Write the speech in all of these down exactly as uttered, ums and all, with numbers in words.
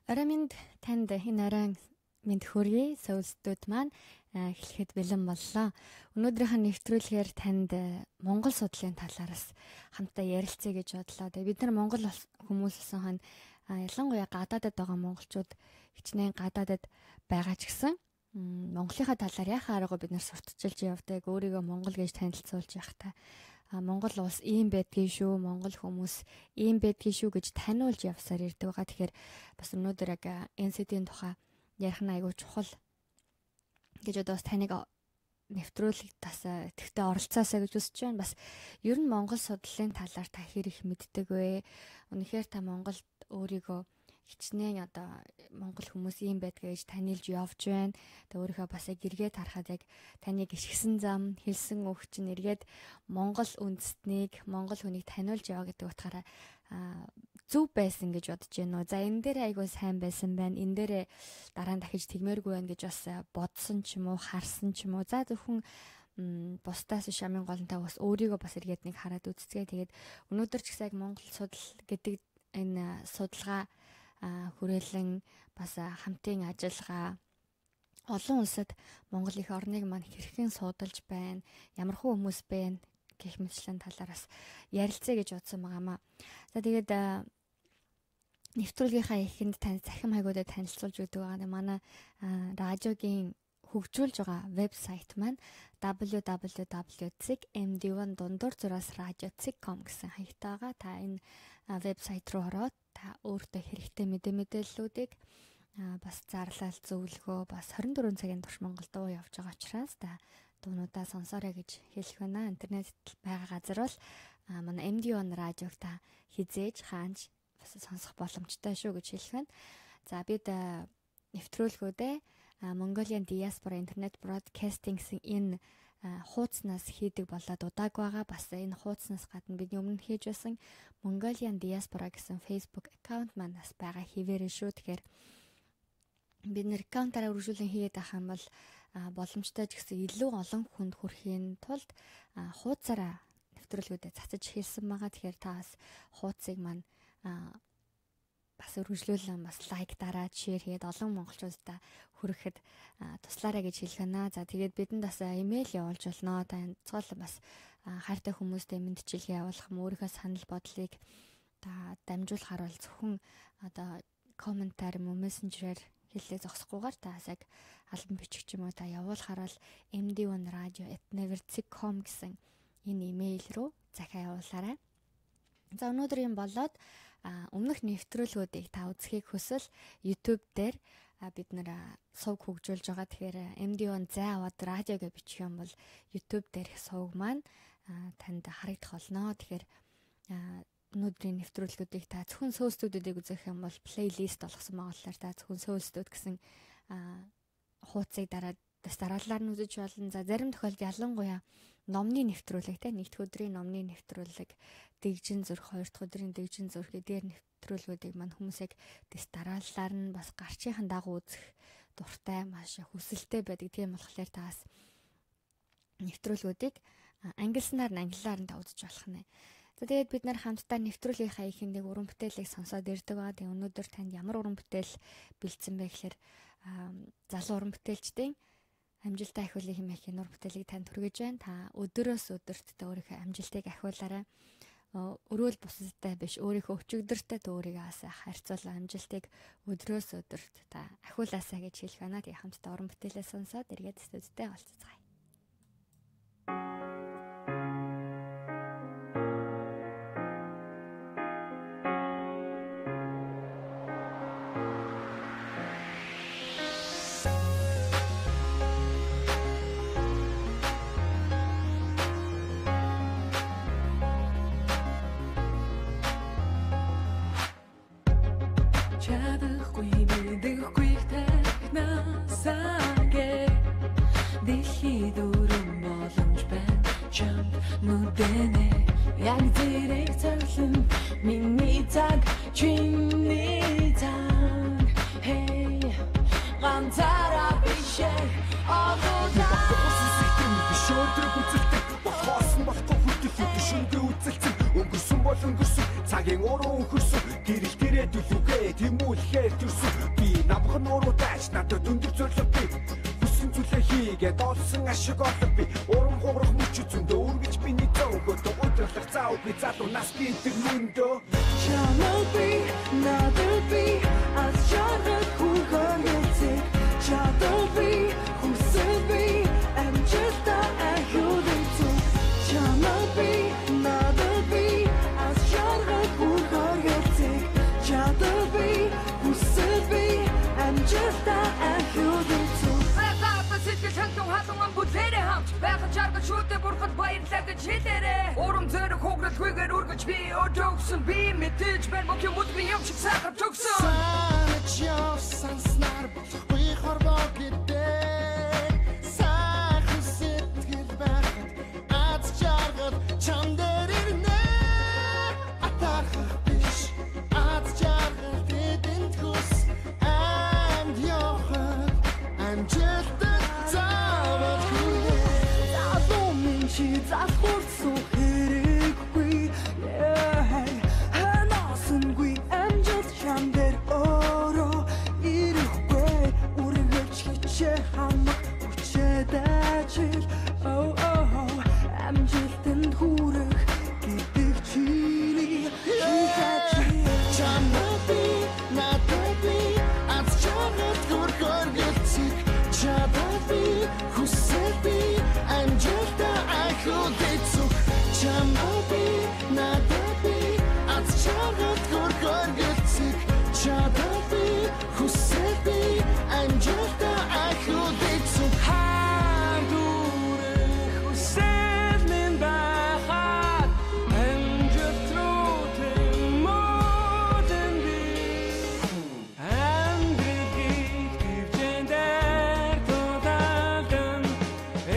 Орой минь танд энэ оройн минь хүргэе. Сөүлстүүд маань эхлэхэд бэлэн боллоо. Өнөөдрийнхөө нэвтрүүлгээр танд Монгол судлалын талаараас хамтдаа ярилцъя гэж бодлоо. Тэгээ бид нар Монгол хүмүүс болсон хань ялангуяа гадаадад байгаа монголчууд хичнээн гадаадад байгаа ч гэсэн Монголынхаа талаар яхаа аргагүй бид нар сурталчилж явдаг. Өөрийгөө Монгол гэж танилцуулж явахта Монгол улс ийм байдгийн шүү, Монгол хүмүүс ийм байдгийн шүү гэж таниулж явсаар ирдэг байгаа. Тэгэхээр бас өнөөдөр яг эн си ди-ийн тухай ярих нь айгүй чухал гэж одоо бас таныг нэвтрүүлэг тас тэгтээ оролцоосаа гэж үзэж байна. Бас ер нь Монгол судлалын талаар та хэр их мэддэг вэ? Үнэхээр та Монголд өөрийгөө хичнээн одоо Монгол хүмүүс ийм байдгаа гэж танилж явж байна. Тэгээ өөрийнхөө бас яг эргээд харахад яг таны гიშгсэн зам, хэлсэн үг чинь эргээд Монгол үндэстнийг, Монгол хүнийг таниулж яваа гэдэг утгаараа зөв байсан гэж бодож байна уу? За энэ дээр айгүй сайн байсан байна. Энэ дээр дараа нь дахиж тэгмээргүй байна гэж бас бодсон ч юм уу, харсан ч юм уу. За зөвхөн бусдаас шамын голонтой бас өөрийгөө бас эргээд нэг хараад үзцгээ. Тэгээд өнөөдөр ч гэсэн яг Монгол судал гэдэг энэ судалгаа хүрээлэн бас хамтын ажиллагаа олон улсад Монгол их орныг маань хэрхэн суудалж байна, ямархуу хүмүүс байна гэх мэтлэн талаараас ярилцъя гэж бодсон байгаамаа. За тэгээд нэвтрүүлгийнхаа эхэнд тань захим хайгуудад танилцуулж өгдөг байгаа. Манай радиогийн хөгжүүлж байгаа вебсайт маань дабл ю дабл ю дабл ю дот эм ди один дундуур зураас радио дот ком гэсэн хаягтай байгаа. Та энэ вебсайт руу ороод та өөртөө хэрэгтэй мэдээ мэдээллүүдийг бас зарлал зөвлөгөө бас хорин дөрвөн цагийн турш Монгол дуу явж байгаа учраас та дуунуудаа сонсоорой гэж хэлэх байна. Интернет байгаа газар бол манай эм ди один радиог та хизээж хаанч бас сонсох боломжтой шүү гэж хэлэх байна. За бид нэвтрүүлгүүдээ Mongolian Diaspora Internet Broadcasting гэсэн энэ хуудаснаас хийдэг болоод удааг байгаа. Бас энэ хуудаснаас гадна бидний өмнө хийж байсан Mongolian Diaspora гэсэн Facebook аккаунт манаас байгаа хэвээрээ шүү. Тэгэхээр бид нэр аккаунтаараа үргэлжлүүлэн хийгээд авах юм бол боломжтой ч гэсэн илүү олон хүнд хүрэхийн тулд хуудасаараа нэвтрүүлгүүдэд цацаж хэлсэн байгаа. Тэгэхээр та бас хуудсыг маань бас үргэлжлүүлэн бас лайк дараад шеэр хийгээд олон монголчуудаа хүрэхэд туслаарай гэж хэлэх байна. За тэгээд бидэнд бас имэйл явуулж болно. Та цоол бас хайртай хүмүүстэй мэдчилгээ явуулах юм, өөрийнхөө санал бодлыг та дамжуулахаар бол зөвхөн одоо комментар юм уу мессенжерээр хэллээ зогсохгүйгээр та яг албан бичиг ч юм уу та явуулахаар бол эм ди один радио at never dot com гэсэн энэ имэйл рүү захиа явуулаарай. За өнөөдөр юм болоод өмнөх нэвтрүүлгүүдийг та үзхийг хүсвэл YouTube дээр бид нэр сувг хөгжүүлж байгаа. Тэгэхээр эм ди один зай аваад радио гэж бичих юм бол YouTube дээр сувг маань танд харагдах болно. Тэгэхээр өнөөдрийн нэвтрүүлгүүдийг та зөвхөн сөүлстүүдийг үзэх юм бол плейлист болгосон байгаа болохоор та зөвхөн сөүлстүүд гэсэн хуудсыг дараад дараалалаар нь үзэж болно. За зарим тохиолдолд ялангуяа номны нэвтрүүлэг те нэгд өдрийн номны нэвтрүүлэг, дэгжин зүрх, хоёр дахь өдрийн дэгжин зүрх эдгээр нэвтрүүлгүүдийг маань хүмүүсийг дэс дараалалаар нь бас гарчийнхан дагуу үзэх дуртай, маш хүсэлтэй байдаг. Тийм болохоор та бас нэвтрүүлгүүдийг ангилснаар нь англиар нь та үзэж болох нэ. За тэгээд бид нар хамтдаа нэвтрүүлгийнхаа ихэндээ уран бүтээлийг сонсоод ирдэг байгаа. Тэгээ өнөөдөр танд ямар уран бүтээл бэлдсэн бэ гэхээр залуу уран бүтээлчдийн амжилттай ахиулын хэмээх нур бүтээлийг танд хүргэж байна. Та өдөрөөс өдөрт та өөрийнхөө амжилтыг ахиулаарай. Өрөөл бусадтай биш, өөрийнхөө өчигдөртэй өөрийгөө харьцуулан амжилтыг өдрөөс өдөрт та ахиулаасаа гэж хэлэх байна. Тэгээ хамтдаа уран бүтээлээ сонсоод эргээд студидтэй олцгаая. Яг зэрэг цоглон миний цаг чиний цаг hey ганцаараа биш одоодаа шөөдрөг үзэлтэй бохоосон болохгүй хөдөлгөөн шүнгээ үзэлцэн өнгөрсөн бол өнгөрсөн цагийн уруу хөрсөн гэрэл дээрээ дүлүгээ тэмүүлэхээр төрсөн би намхан уруу тааш надад өндөр зорилго би хүссэн зүйлээ хийгээд олсон ашиг олох би урам хуурах мөч зөндөө үргэж миний зөөгөө өдөрлөх цаав би залуу нас би тэр мөндөө чамайг би надад би аз жаргал хүргэн яцэг чадвар би хүсэл би амжилтаа ахиулсан чамайг би надад би аз жаргал хүргэн яцэг чадвар би хүсэл би амжилтаа ахиулсан Хантун хатун бүлэрэ хамт байхад жаргал шүтэ бурхад баярлалаа гэж хэлээрэ урам зориг хугарал хүгээр үргэж би өдөгсөн би мэдээж байна мөн мөдний юм шиг сахар төгсөн санаж явсан снар болохгүй хорвоо гэдэг сайхан сэтгэл байхад аз жаргал чам дээр ирнэ атархах биш аз жаргал тэдэнд хүс амд явахад амжилттай чи засхурсан хэрэггүй ханасангүй амжилт чамдэр ороо ирэхгүй үргэлж хичээ хамаг хүчээд ажил оо оо амжилтанд хүрэх гэдэг чиний хийхэж чамайг би надад би аз жаргал хүргэн яцэг чадвар би хүсэл би амжилтаа ахиулсан чамайг би надад би аз жаргал хүргэн яцэг чадвар би хүсэл би амжилтаа ахиулсан хандурах хүсэл минь байхад амжилт руу тэмүүлэн би амжилтыг төвчэндэр тулалдан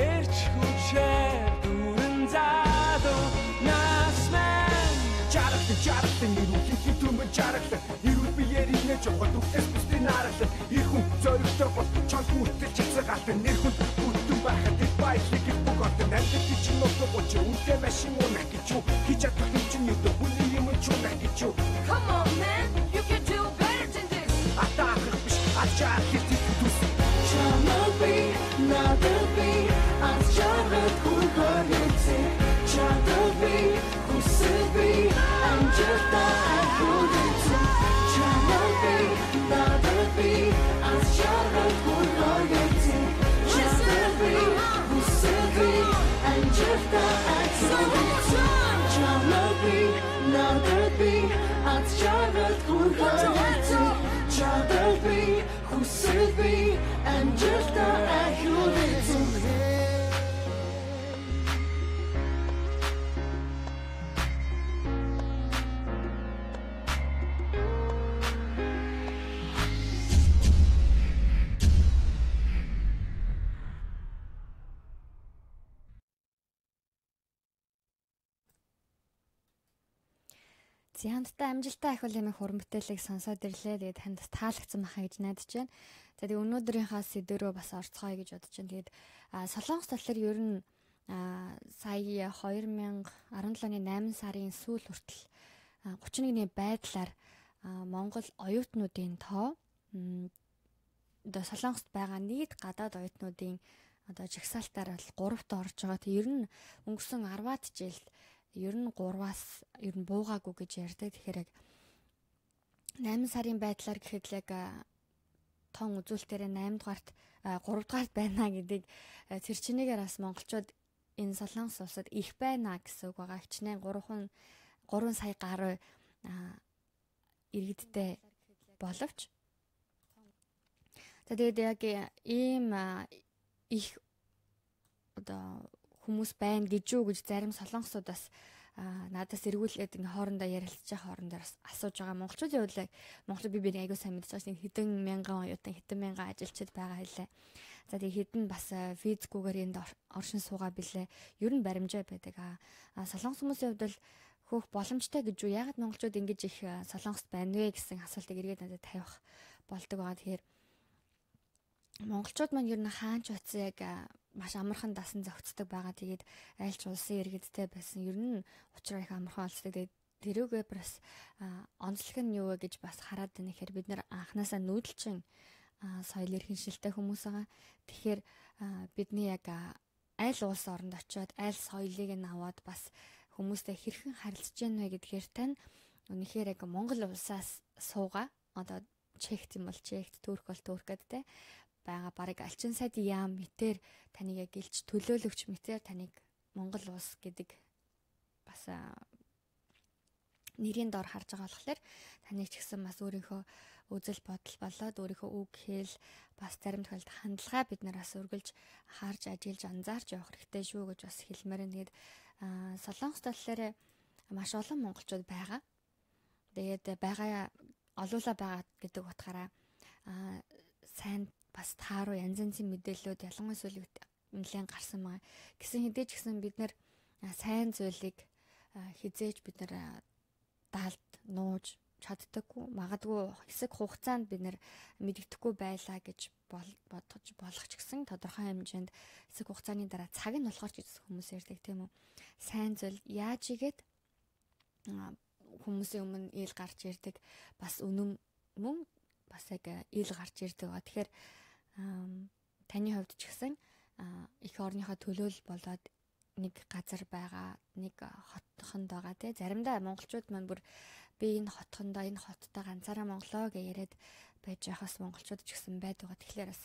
эрч хүчээр дүрэн заадуу нас мэн жаргалтай жаргалтай нэрүүлэх түмэн жаргалтай ирүүл биеэр инээж явах үхээс бусдын наргалтай их хүн зоригтой бол чанх үлдэл чацгаалтай нэр хүн бүтэн байхад их баялаг их боготой амьд гэж нөтөг гоч үнтэй машин унах гэж юу хийж чадах юм чинь юу бүлийн юм чунах гэж юу Come on man you can do better than this атаах биш ачаар хийх түс чамайг би надад би аз жаргал хүргэн яцэг чадвар би хүсэл би амжилтаа ахиулсан чамайг би надад би аз жаргал хүргэн яцэг чадвар би хүсэл би амжилтаа ахиулсан чамайг би надад би аз жаргал хүргэн яцэг чадвар би хүсэл би амжилтаа ахиулсан Зянттай амжилттай ахиулын хуран бүтээлийг сонсоод ирлээ. Тэгээд танд таалагдсан байхаа гэж найдаж байна. За тэгээд өнөөдрийнхээ сэдвэрөө бас орцгоё гэж бодож байна. Тэгээд Солонгос талаар ер нь сая хоёр мянга арван долооны найман сарын сүүл хүртэл гучин нэгний байдлаар Монгол оюутнуудын тоо одоо Солонгост байгаа нийт гадаад оюутнуудын одоо жагсаалтаар бол гуравт орж байгаа. Тэг ер нь өнгөрсөн арваад жилд ер нь гурваас ер нь буугаагүй гэж ярьдаг. Тэгэхээр яг найман сарын байдлаар гэхэд л яг тоон үзүүлэлтээр найман дугаарт гурав дугаарт байна гэдгийг тэр чинээгээр бас монголчууд энэ Солонгос улсад их байна гэсэн үг байгаа. Хичнээн гурван сая гаруй иргэдтэй боловч тэгээд яг ийм их одоо хүмүүс байна гэж юу гэж зарим солонгосууд бас надаас эргүүлээд ингээ хоорондоо ярилцж байгаа хоорондоо асууж байгаа. Монголчуудын хувьд Монгол би биний аягүй сайн мэдж байгаа чинь хэдэн мянган оюутан хэдэн мянган ажилчид байгаа хэлээ. За тэгээ хэдэн бас физикгүйгээр энд оршин суугаа билээ. Ер нь баримжаа байдаг. А солонгос хүмүүсийн хувьд л хөөх боломжтой гэж юу? Ягаад монголчууд ингэж их солонгост байна вэ гэсэн асуултыг эргээд надад тавих болдог байгаа. Тэгэхээр монголчууд маань ер нь хаач утсан яг маш амархан дасан зохицдог байгаа. Тэгээд айлч улсын иргэдтэй байсан. Ер нь учраа их амархан олцдог. Тэгээд тэрүүгээ бас онцлог нь юу вэ гэж бас хараад байна. Тэгэхээр бид нэр анханасаа нүүдэлчин соёл эрхэншилтэй хүмүүс байгаа. Тэгэхээр бидний яг аль улс оронд очиод аль соёлыг нь аваад бас хүмүүстэй хэрхэн харилцаж байна вэ гэдгээр тань үнэхээр яг Монгол улсаас суугаа. Одоо чехт юм бол чехт, турк бол туркад те байгаа барыг алчин сайд яам мэтэр таныг яг гэлж төлөөлөгч мэтэр таныг Монгол улс гэдэг бас нэрийн дор харж байгаа болохоор таныг ч гэсэн бас өөрийнхөө үзэл бодол болоод өөрийнхөө үг хэл бас зарим тохиолдолд хандлага бид нараас үргэлж харж ажиллаж анзаарч явах хэрэгтэй шүү гэж бас хэлмээр нь. Тэгээд Солонгос талаараа маш олон монголчууд байгаа. Тэгээд байгаа олуула байгаа гэдэг утгаараа сайн бас тааруу янз янзын мэдээллүүд ялангуяа сүүлийн нэлээд гарсан байгаа. Гэсэн хэдий ч гэсэн бид нар сайн зүйлийг хизээж бид нар даалд нууж чаддаггүй, магадгүй хэсэг хугацаанд бид нэр мэддэхгүй байлаа гэж бодож болох ч гэсэн тодорхой хэмжээнд хэсэг хугацааны дараа цаг нь болохоор ч гэсэн хүмүүс ярьдаг тийм үү. Сайн зүйл яаж игээд хүмүүсийн өмнө ил гарч ирдэг, бас үнэн мөн бас яг ил гарч ирдэг. Тэгэхээр таны хувьд ч гэсэн их орныхоо төлөөлөл болоод нэг газар байгаа, нэг хотхонд байгаа тий. Заримдаа монголчууд маань бүр би энэ хотхондоо энэ хоттой ганцаараа монголоо гэж яриад байж байхаас монголчууд ч гэсэн байдаг. Тэгэхээр бас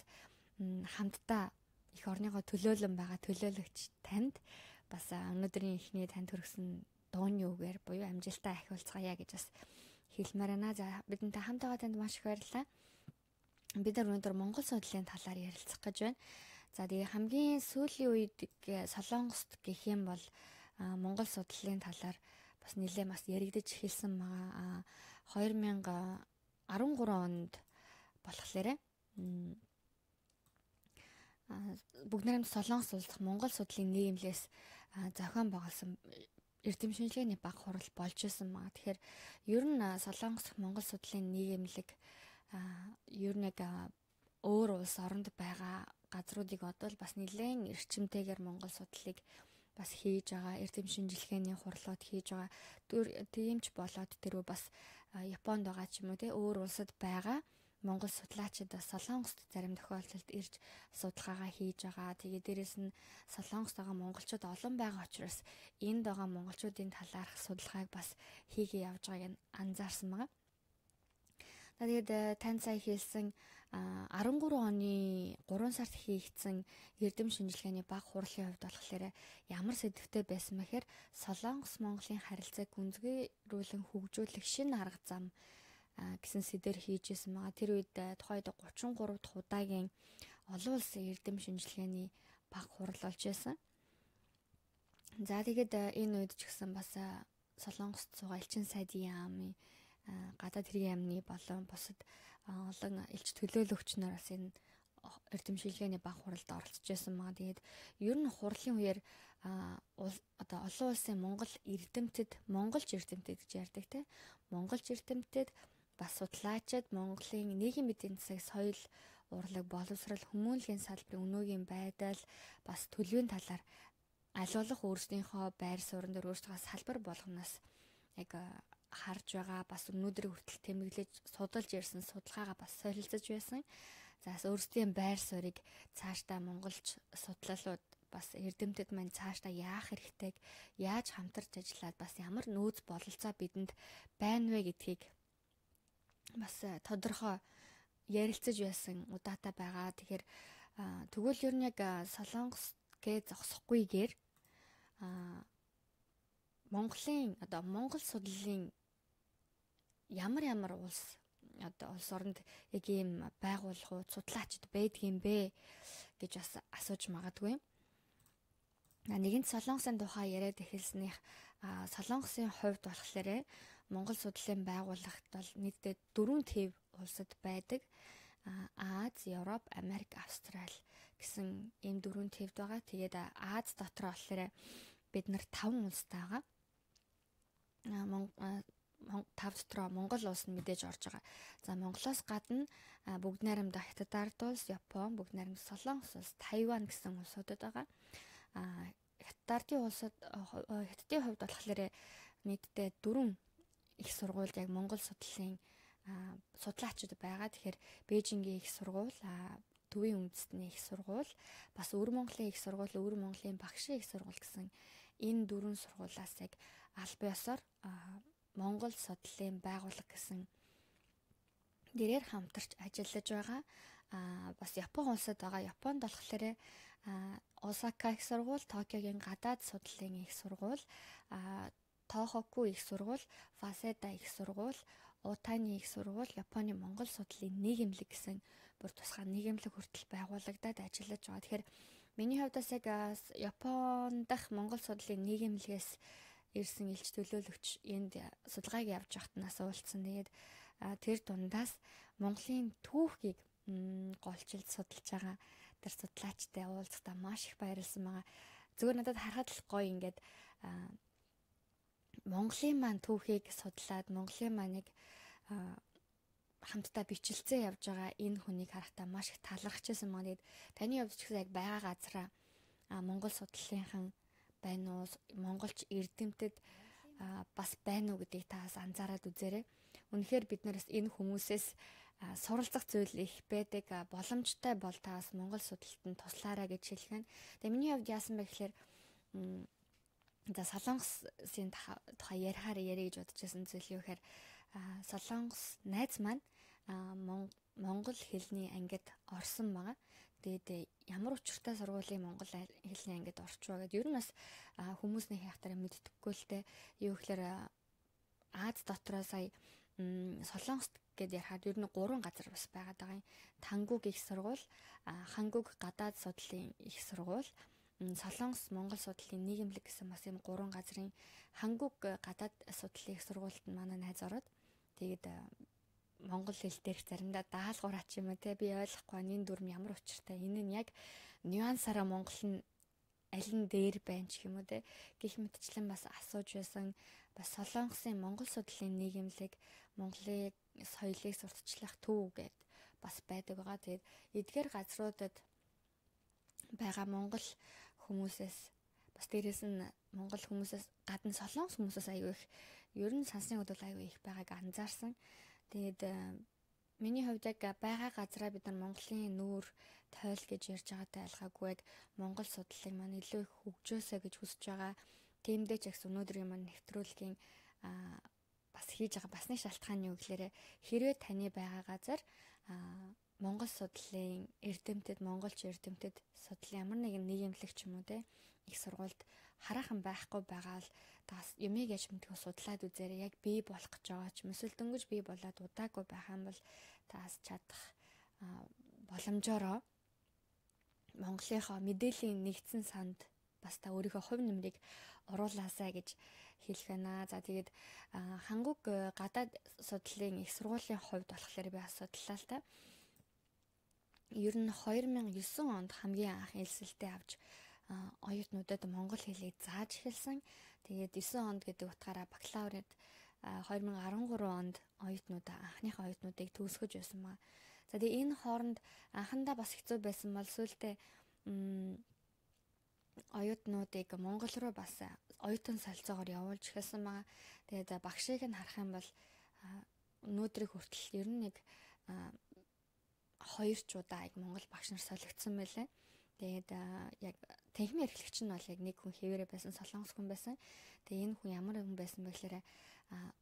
хамтдаа их орныхоо төлөөлөн байгаа төлөөлөгч танд бас өнөөдрийн ихний танд хүргэсэн дууны үгээр буюу амжилтаа ахиулцгаая гэж бас хэлмээр байна. За бидэнтэй хамт байгаа танд маш их баярлалаа. Бид нар өнөөдөр Монгол судлалын талаар ярилцах гэж байна. За тэгээ хамгийн сүүлийн үед Солонгост гэх юм бол Монгол судлалын талаар бас нэлээд бас яригдж эхэлсэн байгаа. хоёр мянга арван гурван онд болохоор бүгд найрамд Солонгос улс Монгол судлалын нийгэмлээс зохион байгуулсан эрдэм шинжилгээний баг хурал болж исэн маа. Тэгэхээр ер нь Солонгос Монгол судлалын нийгэмлэг ер нь яг өөр улс оронд байгаа газруудыг одоо бас нэлээд эрчимтэйгээр Монгол судлалыг бас хийж байгаа, эрдэм шинжилгээний хурлууд хийж байгаа. Тиймч болоод тэрөө бас Японд байгаа ч юм уу те өөр улсад байгаа Монгол судлаачид бас Солонгост зарим тохиолдолд ирж судалгаагаа хийж байгаа. Тэгээ дээрэс нь Солонгост байгаа монголчууд олон байгаа учраас энд байгаа монголчуудын талаарх судалгааг бас хийгээ явж байгааг анзаарсан байгаа. Тэгээд тань сая хэлсэн арван гурван оны гурван сард хийгдсэн эрдэм шинжилгээний баг хурлын хувьд болохоор ямар сэдвтэй байсан мэхээр Солонгос Монголын харилцааг гүнзгийрүүлэн хөгжүүлэх шинэ арга зам гэсэн сэдвээр хийжсэн байгаа. Тэр үед тухайд гучин гурав дахь удаагийн олон улсын эрдэм шинжилгээний баг хурал болж байсан. За тэгээд энэ үед ч гэсэн бас Солонгост суугаа элчин сайдын яамны гадаад хэргийн яамны болон бусад олон элч төлөөлөгч нар бас энэ эрдэм шинжилгээний баг хуралд оролцож байсан маа. Тэгээд ер нь хурлын үеэр одоо олон улсын Монгол эрдэмтэд, монголч эрдэмтэд гэж ярьдаг те. Монголч эрдэмтэд бас судлаачид Монголын нийгэм эдийн засаг, соёл, урлаг, боловсрал, хүмүүнлэгийн салбарын өнөөгийн байдал, бас төлөвийн талаар аль болох өөрсдийнхөө байр суурин дээр өөрсдөө салбар болгоноос яг харж байгаа, бас өнөөдрийн хүртэл тэмдэглэж судалж ирсэн судалгаагаа бас солилцож байсан. За өөрсдийн байр суурийг цаашдаа монголч судлалууд бас эрдэмтэд маань цаашдаа яах хэрэгтэйг, яаж хамтарч ажиллаад бас ямар нөөц бололцоо бидэнд байна вэ гэдгийг бас тодорхой ярилцаж байсан удаатай байгаа. Тэгэхээр тэгвэл ер нь яг Солонгос гээ зогсохгүйгээр Монголын одоо Монгол судлалын ямар ямар улс одоо улс оронд яг ийм байгууллагууд судлаачид байдгийм бэ гэж бас асууж магадгүй. Нэгэнт Солонгосын тухай яриад эхэлснийх Солонгосын хувьд болохоор Монгол судлалын байгууллагт бол нийтдээ дөрвөн төв улсад байдаг. Аз, Европ, Америк, Австрали гэсэн ийм дөрвөн төвд байгаа. Тэгээд Аз дотор болохоор бид нар таван улстай байгаа. Тав дотроо Монгол улс нь мэдээж орж байгаа. За Монголоос гадна бүгд найрамдаа Хятад ард улс, Япон, бүгд найрамд Солонгос улс, Тайван гэсэн улсуудад байгаа. Хятад ардын улсад Хятадын хувьд болохоор нийтдээ дөрвөн их сургуульд яг Монгол судлалын судлаачид байгаа. Тэгэхээр Бээжингийн их сургууль, Төвийн үндэстний их сургууль, бас Өвөр Монголын их сургууль, Өвөр Монголын багшийн их сургууль гэсэн энэ дөрвөн сургуулиас яг аль биесээр Монгол судлалын байгууллага гэсэн дээрээр хамтарч ажиллаж байгаа. Аа бас Япон улсад байгаа. Японд болохоор Осака их сургууль, Токиогийн гадаад судлалын их сургууль, аа Тохоку их сургууль, Фаседа их сургууль, Утаны их сургууль, Японы Монгол судлалын нийгэмлэг гэсэн бүр тусгай нийгэмлэг хүртэл байгуулагдаад ажиллаж байгаа. Тэгэхээр миний хувьдаас яг Японд дах Монгол судлалын нийгэмлэгээс ирсэн элч төлөөлөгч энд судалгааг явж байхад нас уулзсан. Тэгээд тэр дундаас Монголын түүхийг голчилж судалж байгаа тэр судлаачтай уулзахдаа маш их баярлсан байгаа. Зүгээр надад харахад л гоё ингээд Монголын маань түүхийг судлаад Монголын маань нэг хамтдаа бичлэлцээ явж байгаа энэ хүнийг харахтаа маш их талархчихсан маа. Тэгээд таны хувьд ч гэсэн яг байгаа газараа Монгол судлалынхан байна уу, монголч эрдэмтэд бас байна уу гэдгийг та бас анзаараад үзээрэй. Үнэхээр бид нараас энэ хүмүүсээс суралцах зүйл их байдаг. Боломжтой бол та бас Монгол судлалтанд туслаарай гэж хэлэх нь. Тэгээ миний хувьд яасан бэ гэхээр за Солонгосын тухай ярихаар ярих гэж бодож байсан зүйл юу гэхээр Солонгос найз маань монгол хэлний ангид орсон байгаа. Тэгээд ямар учиртай сургуулийн монгол хэлний ангид орчваа гэдэг. Ер нь бас хүмүүсний хаяхтараа мэддэггүй л дээ. Юу гэхээр Аз дотроо сая Солонгост гэдээ ярихад ер нь гурван газар бас байгаад байгаа юм. Тангуг их сургууль, Хангуг гадаад судлалын их сургууль, Солонгос Монгол судлалын нийгэмлэг гэсэн бас юм гурван газрын Хангуг гадаад судлалын их сургуульд манай найз ороод тэгээд монгол хэл дээр заримдаа даалгавраач юм те би ойлгохгүй энэ дүрм ямар учиртай. Энэ нь яг нюансаараа монгол нь аль нь дээр байна ч юм уу те гэх мэтчлэн бас асууж байсан. Бас Солонгосын Монгол судлалын нийгэмлэг, Монголын соёлыг сурталчлах төв гэд бас байдаг байгаа. Тэгээд эдгээр газруудад байгаа монгол хүмүүсээс бас дээрээс нь монгол хүмүүсээс гадна Солонгос хүмүүсээс аягүй их ер нь сансны хөдөл аягүй их байгааг анзаарсан. Тэгээд миний хувьд яг байгаа газараа бид нар Монголын нүүр тойл гэж ярьж байгаатай айлгаагүй яг монгол судлалыг маань илүү их хөгжөөсэй гэж хүсэж байгаа. Тиймдээ ч гэсэн өнөөдрийн маань нэвтрүүлгийн бас хийж байгаа бас нэг шалтгаан юу гэхээр хэрвээ таны байгаа газар монгол судлалын эрдэмтэд, монголч эрдэмтэд судлалын ямар нэгэн нийгэмлэг ч юм уу те их сургуульд хараахан байхгүй байгаа л тас юмыг яж мэдгүй судлаад үзээрэй. Яг бий болох гэж байгаа ч эсвэл дөнгөж бий болоод удаагүй байх юм бол таас чадах боломжоор Монголынхоо мэдээллийн нэгдсэн санд бас та өөрийнхөө хувь нэмрийг оруулаасай гэж хэлэх байна. За тэгээд Хангуг гадаад судлалын их сургуулийн хувьд болохоор би асуудлаа л та. Ер нь хоёр мянган и девять онд хамгийн анх элсэлтэд авч оюутнуудад монгол хэлийг зааж эхэлсэн. Тэгээд девять онд гэдэг утгаараа бакалаврт хоёр мянган арван гурван онд оюутнуудаа анхныхаа оюутнуудыг төгсгөж байсан маа. За тэгээд энэ хооронд анхандаа бас хэцүү байсан бол сүүлдээ оюутнуудыг Монгол руу бас оюутан солилцоогоор явуулж эхэлсэн маа. Тэгээд багшийг нь харах юм бол өнөөдрийг хүртэл ер нь нэг хоёр ч удаа яг монгол багш нар солигдсон байлаа. Тэгээд яг техникийн эрхлэгч нь бол яг нэг хүн хэвээрээ байсан, солонгос хүн байсан. Тэгээд энэ хүн ямар хүн байсан бэ гэхээр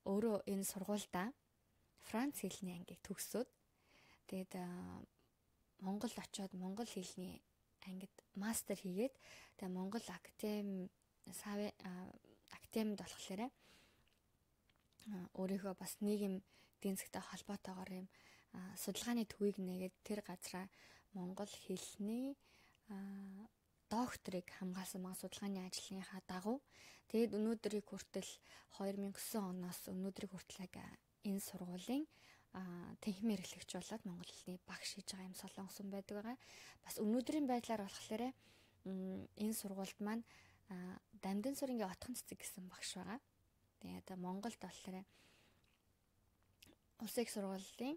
өөрөө энэ сургуульдаа Франц хэлний ангийг төгсөөд тэгээд Монгол очиод монгол хэлний ангид мастер хийгээд тэгээд Монгол академи академид болохоор өөрийнхөө бас нийгэм эдийн засгтай холбоотойгоор юм судалгааны төвийг нээгээд тэр газараа монгол хэлний докторыг хамгаалсан mga судалгааны ажлынхаа дагуу тэгээд өнөөдрийг хүртэл хоёр мянган и девять оноос өнөөдрийг хүртэл яг энэ сургуулийн техникийн эрхлэгч болоод монгол хэлний багш хийж байгаа юм солонгос хүн байдаг байгаа. Бас өнөөдрийн байдлаар болохоор энэ сургуульд маань Дамдын сүрэнгийн отхон цэцэг гэсэн багш байгаа. Тэгээд Монголд болохоор улсын их сургуулийн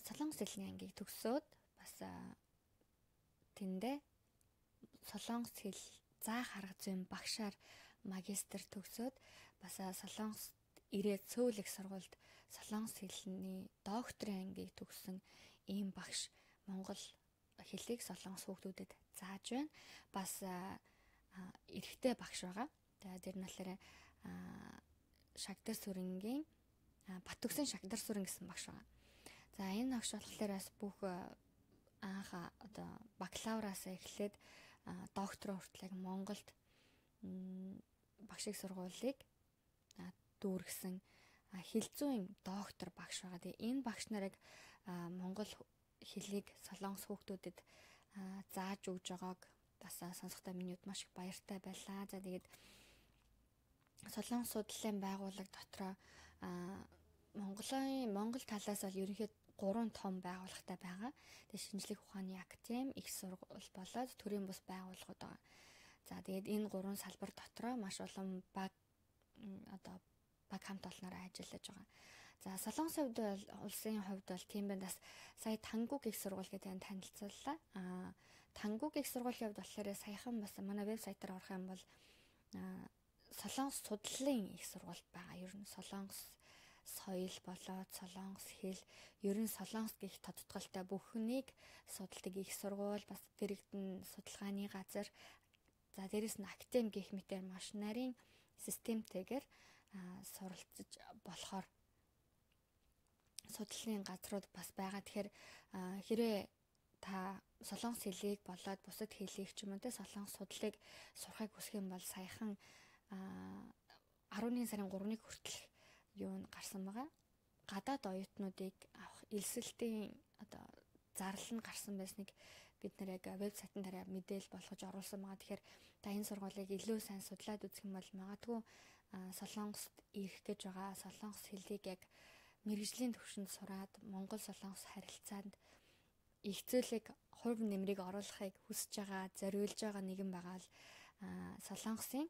солонгос хэлний ангийг төгсөөд бас тэндээ солонгос хэл заах арга зүйн багшаар магистр төгсөөд бас солонгос ирээд Сөүл их сургуульд солонгос хэлний докторийн ангийг төгссөн ийм багш монгол хэлийг солонгос хүүхдүүдэд зааж байна. Бас эрэгтэй багш байгаа. Тэгээд тэр нь болохоор Шагдар Сүрэнгийн Бат Үгсэн Шагдар Сүрэн гэсэн багш байгаа. За энэ багш болохоор бас бүх анх одоо бакалавраас эхлээд доктор хүртэл Монголд багшиг сургуулийг дүүргэсэн хэл зүйн доктор багш байгаа. Тэгээ энэ багш нарыг монгол хэлийг солонгос хүүхдүүдэд зааж өгж байгааг бас сонсохдоо миний хувьд маш их баяртай байлаа. За тэгээд солонгос судлалын байгууллага дотроо Монголын Монгол талаас бол ерөнхийд гурван том байгууллагатай байгаа. Тэгээд шинжлэх ухааны академи, их сургууль болоод төрийн бус байгууллагууд байгаа. За тэгээд энэ гурван салбар дотроо маш олон баг одоо баг хамт олноор ажиллаж байгаа. За солонгос хувьд бол улсын хувьд бол тийм байна. Бас сая Тангуг их сургууль гэдэг танилцууллаа. Аа Тангуг их сургуулийн хувьд болохоор саяхан бас манай вебсайтаар орох юм бол солонгос судлалын их сургууль байгаа. Ер нь солонгос соёл болоод солонгос хэл, ер нь солонгос гэх тодтголтой бүхнийг судалдаг их сургууль, бас дэрэгдэн судалгааны газар. За дээрэс нь академи гэх мэтээр маш нарийн системтэйгээр суралцж болохоор судлалын газрууд бас байгаа. Тэгэхээр хэрвээ та солонгос хэлийг болоод бусад хэлийг ч юм уу те солонгос судлалыг сурахыг хүсэх юм бол саяхан арваны сарын гуравныг хүртэл юу н гарсан байгаа. Гадаад оюутнуудыг авах элсэлтийн одоо зарлал нь гарсан байсныг бид нэр яг вебсайтн дээр мэдээлэл болгож оруулсан байгаа. Тэгэхээр та энэ сургуулийг илүү сайн судлаад үзэх юм бол магадгүй солонгост ирэх гэж байгаа солонгос хэлийг яг мэргэжлийн түвшинд сураад Монгол солонгос харилцаанд их зүйлийг хувь нэмрийг оруулахыг хүсэж байгаа, зориулж байгаа нэгэн байгаа л солонгосын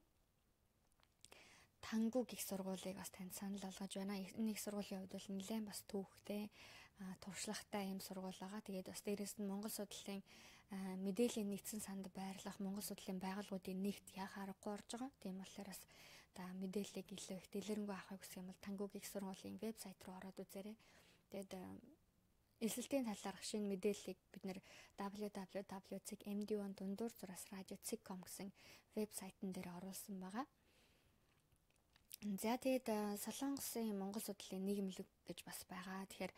Тангуг их сургуулийг бас танд санал болгож байна. Энэ их сургуулийн хувьд бол нэлээд бас түүхтэй, туршлагатай юм сургууль байгаа. Тэгээд бас дээрэс нь Монгол судлалын мэдээллийн нэгдсэн санд байрлах Монгол судлалын байгууллагуудын нэгт яхаа аргагүй орж байгаа. Тийм болохоор бас та мэдээллийг илүү их дэлгэрэнгүй авахыг хүсэх юм бол Тангуг их сургуулийн вебсайт руу ороод үзээрэй. Тэгээд элсэлтийн талаарх шинэ мэдээллийг бид нэр дабл ю дабл ю дабл ю дot эм ди one дундуур зураас радио дот ком гэсэн вебсайтн дээр оруулсан байгаа. За тэгээд солонгосын Монгол судлалын нийгэмлэг гэж бас байгаа. Тэгэхээр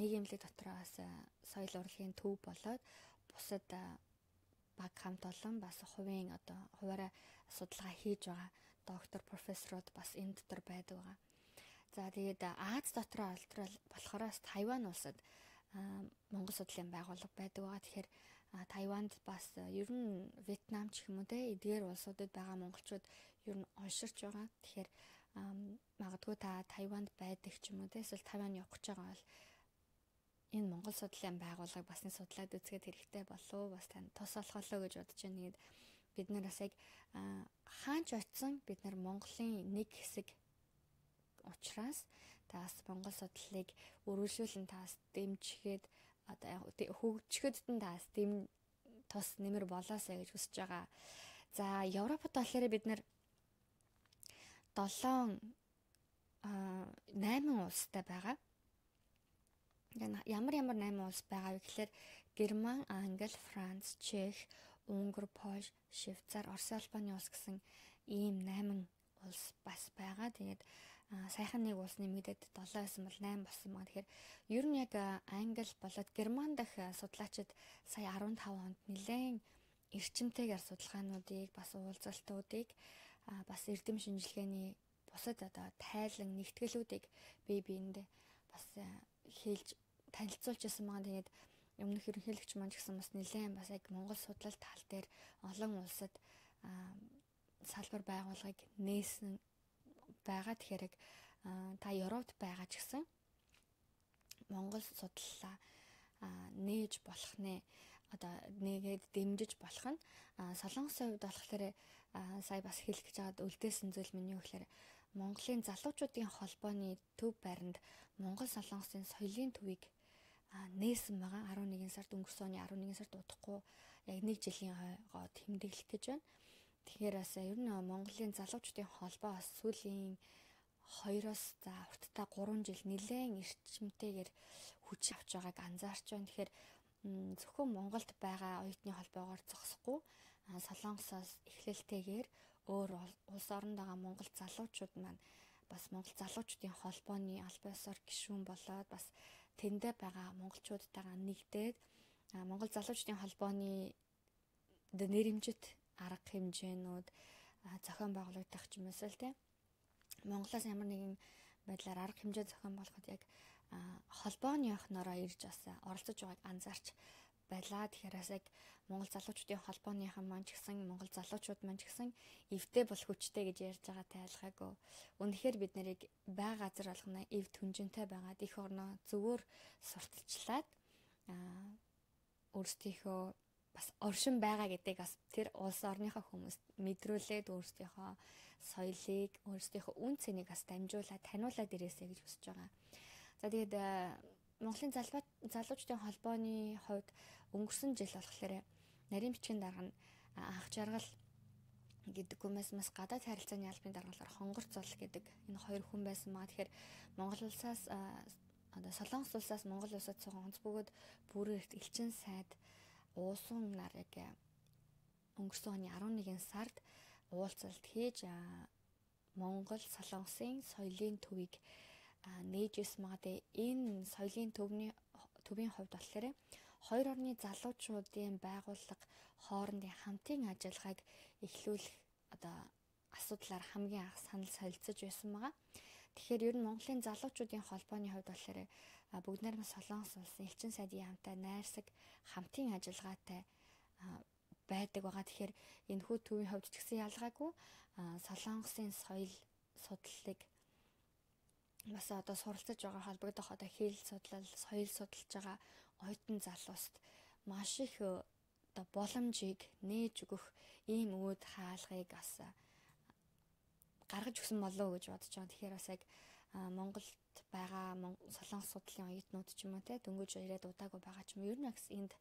нийгэмлэг дотроо бас соёл урлагийн төв болоод бусад баг хамт олон бас хувийн одоо хуваараа судалгаа хийж байгаа доктор профессорууд бас энэ дотор байдаг байгаа. За тэгээд Аз дотроо болохоор Тайван улсад Монгол судлалын байгууллага байдаг байгаа. Тэгэхээр Тайванд бас ер нь Вьетнам ч юм уу те эдгээр улсуудад байгаа монголчууд ер нь унширч байгаа. Тэгэхээр магадгүй та Тайванд байдаг ч юм уу те эсвэл Тайван явах гэж байгаа бол энэ Монгол судлалын байгууллага бас нэг судлаад үзгээд хэрэгтэй болов бас тань тус болохоо гэж бодож байна. Тэгээд бид нар бас яг хаач очсон бид нар Монголын нэг хэсэг учраас таас Монгол судлалыг өргөжлүүлэн таас дэмжихэд одоо хөгжихэд таас дэм тус нэмэр болоосаа гэж хүсэж байгаа. За Европод болохоор бид нар долоон найман улстай байгаа. Ямар ямар найман улс байгаа вэ гэхээр Герман, Англи, Франц, Чех, Унгар, Польш, Швейцар, Орос, Албаны улс гэсэн ийм найман улс бас байгаа. Тэгээд саяхан нэг улс нэмэгдээд долоо байсан бол найман болсон байгаа. Тэгэхээр ер нь яг Англи болоод Герман дахь судлаачид сая арван таван онд нэлээд эрчимтэйгээр судалгаануудыг бас уулзалтуудыг бас эрдэм шинжилгээний бусад одоо тайлан нэгтгэлүүдийг бие биендээ бас хэлж танилцуулж байсан байгаа. Тэгээд өмнөх ерөнхийлөгч маань ч гэсэн бас нэлээд бас яг Монгол судлал тал дээр олон улсад салбар байгууллагыг нээсэн байгаа. Тэгэхээр яг та Европт байгаа ч гэсэн Монгол судлалаа нээж болох нэ одоо нэгээд дэмжиж болох нь солонгосын хувьд болохоор сая бас хэлэх гэж байгаад үлдээсэн зүйл миний гэхээр Монголын залуучуудын холбооны төв байранд Монгол солонгосын соёлын төвийг нээсэн байгаа. арван нэгэн сард өнгөрсөн оны арван нэгэн сард удахгүй яг нэг жилийн хойгоо тэмдэглэх гэж байна. Тэгэхээр бас ер нь Монголын залуучуудын холбоо бас сүүлийн хоёроос за уртдаа гурван жил нэлээд эрчимтэйгээр хүч авч байгааг анзаарч байна. Тэгэхээр зөвхөн Монголд байгаа оюутны холбоогоор зогсохгүй Солонгосоос эхлэлтэйгээр өөр улс оронд байгаа монгол залуучууд маань бас монгол залуучуудын холбооны аль биесээр гишүүн болоод бас тэндээ байгаа монголчуудтайгаа нэгдээд монгол залуучуудын холбооны нэрэмжит арга хэмжээнүүд зохион байгуулагдах ч юм уу л тийм Монголоос ямар нэгэн байдлаар арга хэмжээ зохион болгоход яг холбооны охноороо ирж бас оролцож байгааг анзаарч байлаа. Тэгэхээр бас яг монгол залуучуудын холбооныхан маань ч гэсэн монгол залуучууд маань ч гэсэн эвтэй бол хүчтэй гэж ярьж байгаатай айлгаагүй. Үнэхээр бид нарыг бай газар болгоно эв түнжинтэй байгаад их орноо зөвөр сурталчлаад өөрсдийнхөө бас оршин байгаа гэдэг бас тэр улс орныхоо хүмүүст мэдрүүлээд өөрсдийнхөө соёлыг, өөрсдийнхөө үн цэнийг бас дамжуулаад таниулаад ирээсэй гэж хүсэж байгаа. За тэгээд Монголын залуучдын холбооны хувьд өнгөрсөн жил болохоор нарийн бичгийн дарга нь анх жаргал гэдэг хүмээс бас гадаад харилцааны албаны даргалаар хонгор зол гэдэг энэ хоёр хүн байсан маа. Тэгэхээр Монгол улсаас одоо Солонгос улсаас Монгол улсад цуган онц бөгөөд бүрээр элчин сайд уусан нар яг өнгөрсөн оны арван нэгэн сард уулзалт хийж Монгол Солонгосын соёлын төвийг нээж магадгүй энэ соёлын төвний төвийн хувьд болохоор хоёр орны залуучуудын байгууллага хоорондын хамтын ажиллагааг эхлүүлэх одоо асуудлаар хамгийн анх санал солилцож байсан байгаа. Тэгэхээр ер нь Монголын залуучуудын холбооны хувьд болохоор бүгд найрамд Солонгос улсын элчин сайдын хамтаа найрсаг хамтын ажиллагаатай байдаг байгаа. Тэгэхээр энэ хүү төвийн хувьд ч гэсэн ялгаагүй Солонгосын соёл судлалыг бас одоо суралцаж байгаа холбогдох одоо хэл судлал, соёл судалж байгаа оюутан залууст маш их одоо боломжийг нээж өгөх ийм үүд хаалгыг бас гаргаж өгсөн болов уу гэж бодож байгаа. Тэгэхээр бас яг Монголд байгаа Солонгос судлалын оюутнууд ч юм уу те дөнгөж ирээд удаагүй байгаа ч юм ер нь бас энд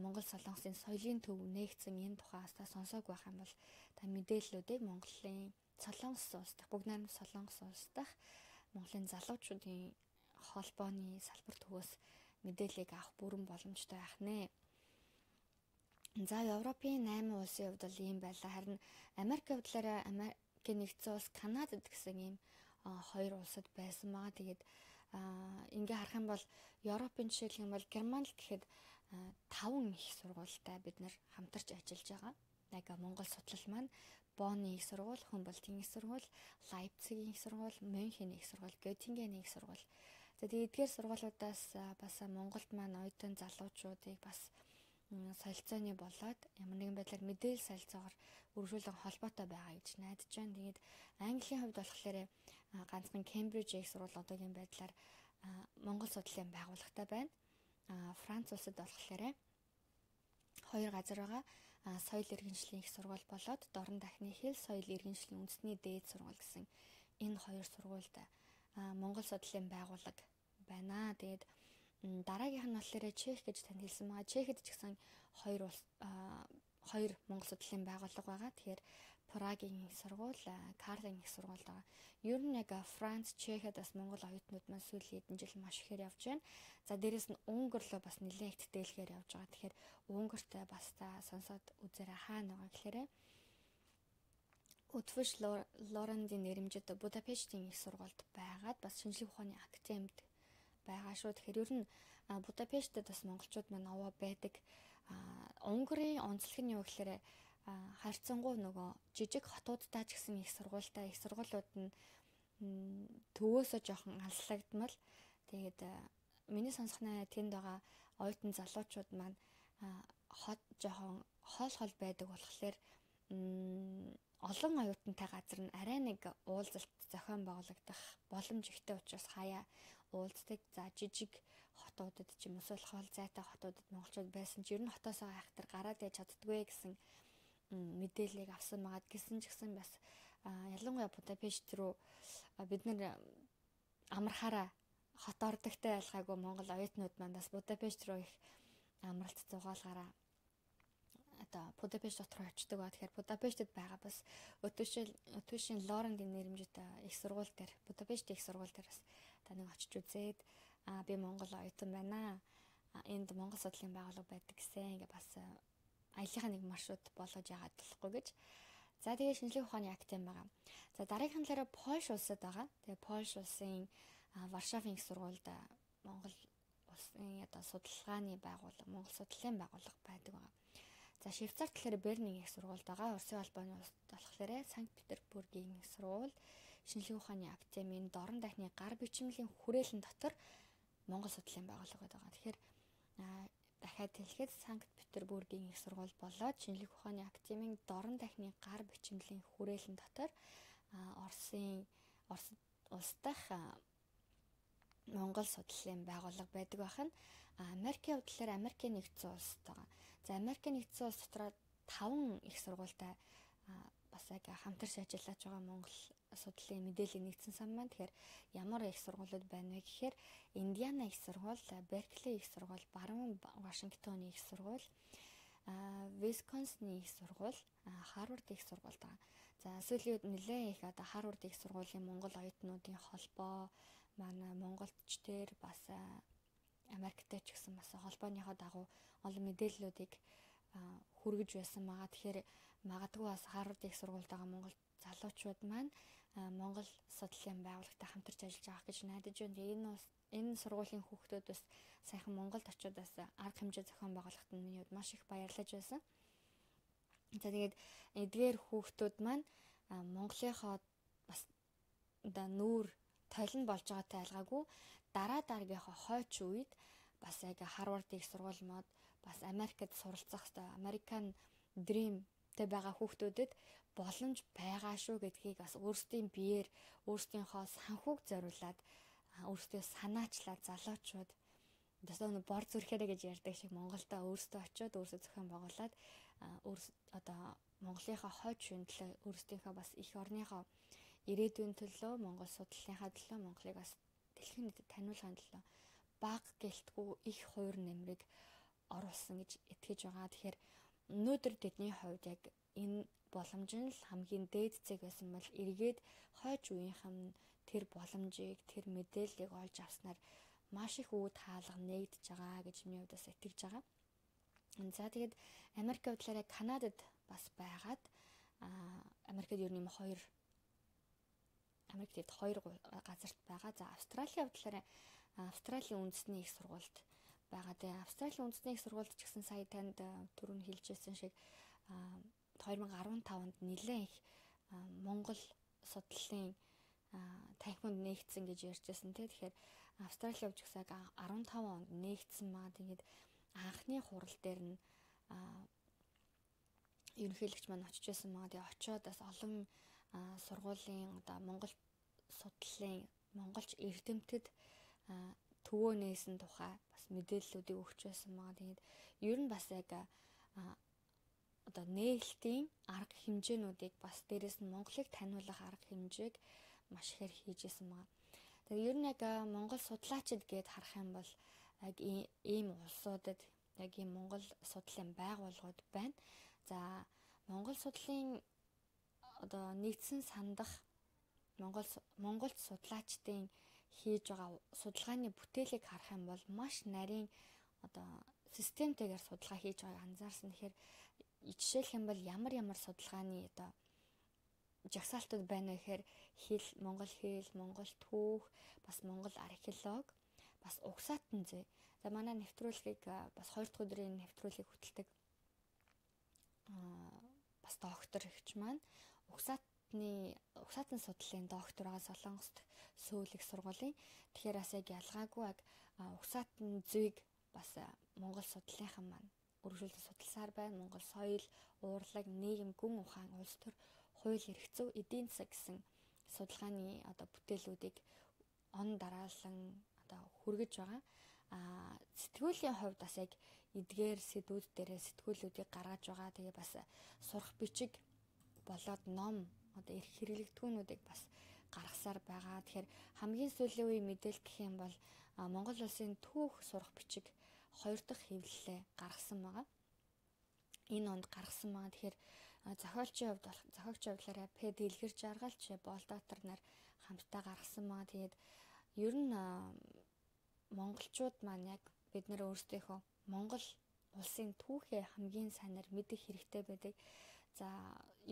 Монгол Солонгосын соёлын төв нээгдсэн энэ тухаас та сонсоог байх юм бол та мэдээллүүдийг Монголын Солонгос улс дахь бүгд найрамд Солонгос улс дахь Монголын залуучуудын холбооны салбар төвөөс мэдээллийг авах бүрэн боломжтой байх нэ. За Европын найман улсын хувьд бол ийм байлаа. Харин Америкийн хувьдлаараа Америкийн нэгдсэн улс, Канадад гэсэн ийм хоёр улсад байсан байгаа. Тэгээд ингээ харах юм бол Европын жишээлх юм бол Германд гэхэд таван их сургуультай бид нар хамтарч ажиллаж байгаа. Яг Монгол судлал маань Бонны их сургууль, Хумбольдтын их сургууль, Лайпцигийн их сургууль, Мюнхений их сургууль, Göttingeний их сургууль. За тэгээд эдгээр сургуулиудаас бас Монголд маань оюутан залуучуудыг бас солилцооны болоод ямар нэгэн байдлаар мэдээлэл солилцоогоор үргэлжлүүлэн холбоотой байгаа гэж найдаж байна. Тэгээд Английн хувьд болохоор ганцхан Кембриж их сургууль одоогийн байдлаар Монгол судлалын байгууллагатай байна. Франц улсад болохоор хоёр газар байгаа. Соёл иргэншлийн их сургууль болоод Дорн дахны хэл соёл иргэншлийн үндэсний дээд сургууль гэсэн энэ хоёр сургуульд Монгол судлалын байгууллага байна. Тэгээд дараагийнх нь болохоор Чех гэж танд хэлсэн байгаа. Чехэд ч гэсэн хоёр улс хоёр Монгол судлалын байгууллага байгаа. Тэгэхээр Прагийн их сургууль, Карлын их сургууль байгаа. Ер нь яг Франц, Чехэд бас Монгол оюутнууд маань сүүлийн хэдэн жил маш ихээр явж байна. За дээрэс нь Унгар руу бас нэлээд их тэтгэлгээр явж байгаа. Тэгэхээр Унгартай бас та сонсоод үзээрэй хаана байгаа гэхээр Утфиш Лорандын нэрэмжит Будапештийн их сургуульд байгаад бас шинжлэх ухааны академид байгаа шүү. Тэгэхээр ер нь Будапештэд бас монголчууд маань овоо байдаг. Унгарын онцлог нь юу гэхээр харьцангуй нөгөө жижиг хотуудтай ч гэсэн их сургуультай их сургуулиуд нь төвөөсөө жоохон алслагдмал. Тэгээд миний сонсохноо тэнд байгаа оюутан залуучууд маань хот жоохон хоол хол байдаг болохоор олон оюутантай газар нь арай нэг уулзалт зохион байгуулагдах боломж ихтэй учраас хаяа уулздаг. За жижиг хотуудад ч юм уу эсвэл хоол зайтай хотуудад монголчууд байсан ч ер нь хотоосоо хайхтар гараад яж чаддгүй гэсэн мэдээллийг авсан байгаа. Гэсэн ч гэсэн бас ялангуяа Будапешт руу бид нэр амархаараа хот ордогтой ялгаагүй монгол оюутнууд маань бас Будапешт руу их амралт зугаалгаараа одоо Будапешт дотор очдөг ба тэгэхээр Будапештэд байгаа бас өтөшил өтөшийн Лоренгийн нэрмжтэй их сургууль дээр Будапешт их сургууль дээр бас та нэг очиж үзээд аа би Монгол оюутан байна. Энд Монгол судлалын байгууллага байдаг гэсэн ингээ бас аяллахын нэг маршрут болгож яагаад болохгүй гэж. За тэгээ шинжлэх ухааны академи байгаа. За дараагийнхан талаараа Польш улсад байгаа. Тэгээ Польш улсын Варшавын их сургуульд Монгол улсын одоо судалгааны байгууллага, Монгол судлалын байгууллага байдаг байгаа. За Швейцар талаар Бернийн их сургуульд байгаа. Оросын албаны улс болохоор Санкт Петербургийн их сургууль, шинжлэх ухааны академийн дорн дахны гар бичмэлийн хүрээлэн дотор Монгол судлалын байгууллага байгаа. Тэгэхээр дахиад хэлэхэд Санкт Петербургийн их сургууль болоод шинжлэх ухааны академийн дорн дахны гар бичмэлийн хүрээлэн дотор Оросын Орос улс дахь Монгол судлалын байгууллага байдаг бахан. Америкийн хувьд талаар Америкийн нэгдсэн улс байгаа. За Америкийн нэгдсэн улс дотор таван их сургуультай бас яг хамтарч ажиллаж байгаа Монгол судлалын мэдээллийн нэгдсэн сан маань. Тэгэхээр ямар их сургуулиуд байна вэ гэхээр Индиана их сургууль, Беркли их сургууль, Баруун Вашингтоны их сургууль, Висконсины их сургууль, Харвард их сургууль байгаа. За сүүлийн үед нэлээд их одоо Харвард их сургуулийн Монгол оюутнуудын холбоо манай монголчдэр бас Америктэй ч гэсэн бас холбооныхоо дагуу олон мэдээллүүдийг хүргэж байсан байгаа. Тэгэхээр магадгүй бас Харвард их сургуульд байгаа монгол залуучууд маань Монгол судлалын байгууллагатай хамтарч ажиллаж байгаа гэж найдаж байна. Энэ энэ сургуулийн хүүхдүүд бас сайхан Монголд очиод бас арга хэмжээ зохион байгуулахад нь миний хувьд маш их баярлаж байсан. За тэгээд эдгээр хүүхдүүд маань Монголынхоо бас одоо нүүр толин болж байгаатай айлгаагүй дараа дараагийнхаа хойч үед бас яг Харвард их сургууль мод бас Америкт суралцах хэвээр American Dream-тэй байгаа хүүхдүүдэд боломж байгаа шүү гэдгийг бас өөрсдийн биеэр өөрсдийнхөө санхүүг зориулаад өөрсдөө санаачлаад залуучууд дэсээ бор зүрхээрэ гэж ярьдаг шиг Монголдо өөрсдөө очиод өөрсдөө зохион байгуулад өөр одоо Монголынхаа хойч үеийн өөрсдийнхөө бас их орныхоо ирээдүйн төлөө Монгол судлалынхаа төлөө Монголыг бас дэлхийн нийтэд таниулахын төлөө баг гэлтгүй их хувир нэмрийг оруулсан гэж итгэж байгаа. Тэгэхээр өнөөдөр тэдний хувьд яг энэ боломж нь л хамгийн дээд зэг байсан бол эргээд хойч үеийнхэн тэр боломжийг, тэр мэдээллийг олж авснаар маш их үүд хаалга нэгдэж байгаа гэж миний хувьд бас итгэж байгаа. За тэгээд Америкийн талаараа Канадад бас байгаад Америкт ер нь хоёр Америкт хоёр газарт байгаа. За Австралийн хувьд Австралийн үндэсний их сургуульд байгаа. Тэгээ Австралийн үндэсний их сургуульд ч гэсэн сая танд түрүүн хэлжсэн шиг две тысячи десять нэлээд их Монгол судлалын танхимд нээгдсэн гэж ярьжсэн тий. Тэгэхээр Австралийн хувьд ч гэсэн десять онд нээгдсэн маа. Тэгээд анхны хурал дээр нь ерөнхийлөгч маань очиж байсан маа. Тэгээ очиод бас олон сургуулийн одоо Монгол судлалын монголч эрдэмтэд төвөө нээсэн тухай бас мэдээллүүдийг өгч байсан маа. Тэгээд ер нь бас яг одоо нээлтийн арга хэмжээнүүдийг бас дээрэс нь Монголыг таниулах арга хэмжээг маш ихээр хийжсэн маа. Тэгээд ер нь яг Монгол судлаачид гээд харах юм бол яг ийм улсуудад яг ийм Монгол судлалын байгууллагууд байна. За Монгол судлалын одоо нэгдсэн сандах Монгол Монголд судлаачдын хийж байгаа судалгааны бүтээлийг харах юм бол маш нарийн одоо системтэйгээр судалгаа хийж байгааг анзаарсан. Тэгэхээр жишээлх юм бол ямар ямар судалгааны одоо жагсаалтууд байна вэ гэхээр хэл, монгол хэл, монгол түүх, бас монгол археологи, бас угсаатан зүй. За манай нэвтрүүлгийг бас хоёр дахь өдрийн нэвтрүүлгийг хөтэлдэг аа бас доктор ихч маань угсаатны угсаатан судлалын доктор байгаа Солонгост Сөүл их сургуулийн. Тэгэхээр бас яг ялгаагүй яг угсаатан зүйг бас монгол судлалынхан маань өргөжүүлж судалсаар байна. Монгол соёл, уурлаг, нийгэм, гүн ухаан, улс төр, хууль, эрх зүй, эдийн засаг гэсэн судалгааны одоо бүтээлүүдийг он дараалан одоо хүргэж байгаа. Аа сэтгүүлийн хувьд бас яг эдгээр сэдвүүд дээрээ сэтгүүлүүдийг гаргаж байгаа. Тэгээ бас сурах бичиг болоод ном одоо эрх хэрэглэгдэхүүнүүдийг бас гаргасаар байгаа. Тэгэхээр хамгийн сүүлийн үеийн мэдээлэл гэх юм бол Монгол улсын түүх сурах бичиг хоёр дахь хэвлэлээ гаргасан байгаа. энэ онд гаргасан байгаа. Тэгэхээр зохиолчийн хувьд болох зохиогчийн хувьдлаараа П Дэлгэр Жаргалч Болдотор нар хамтдаа гаргасан байгаа. Тэгээд ер нь монголчууд маань яг бид нэр өөрсдийнхөө Монгол улсын түүхээ хамгийн сайнаар мэдэх хэрэгтэй байдаг. За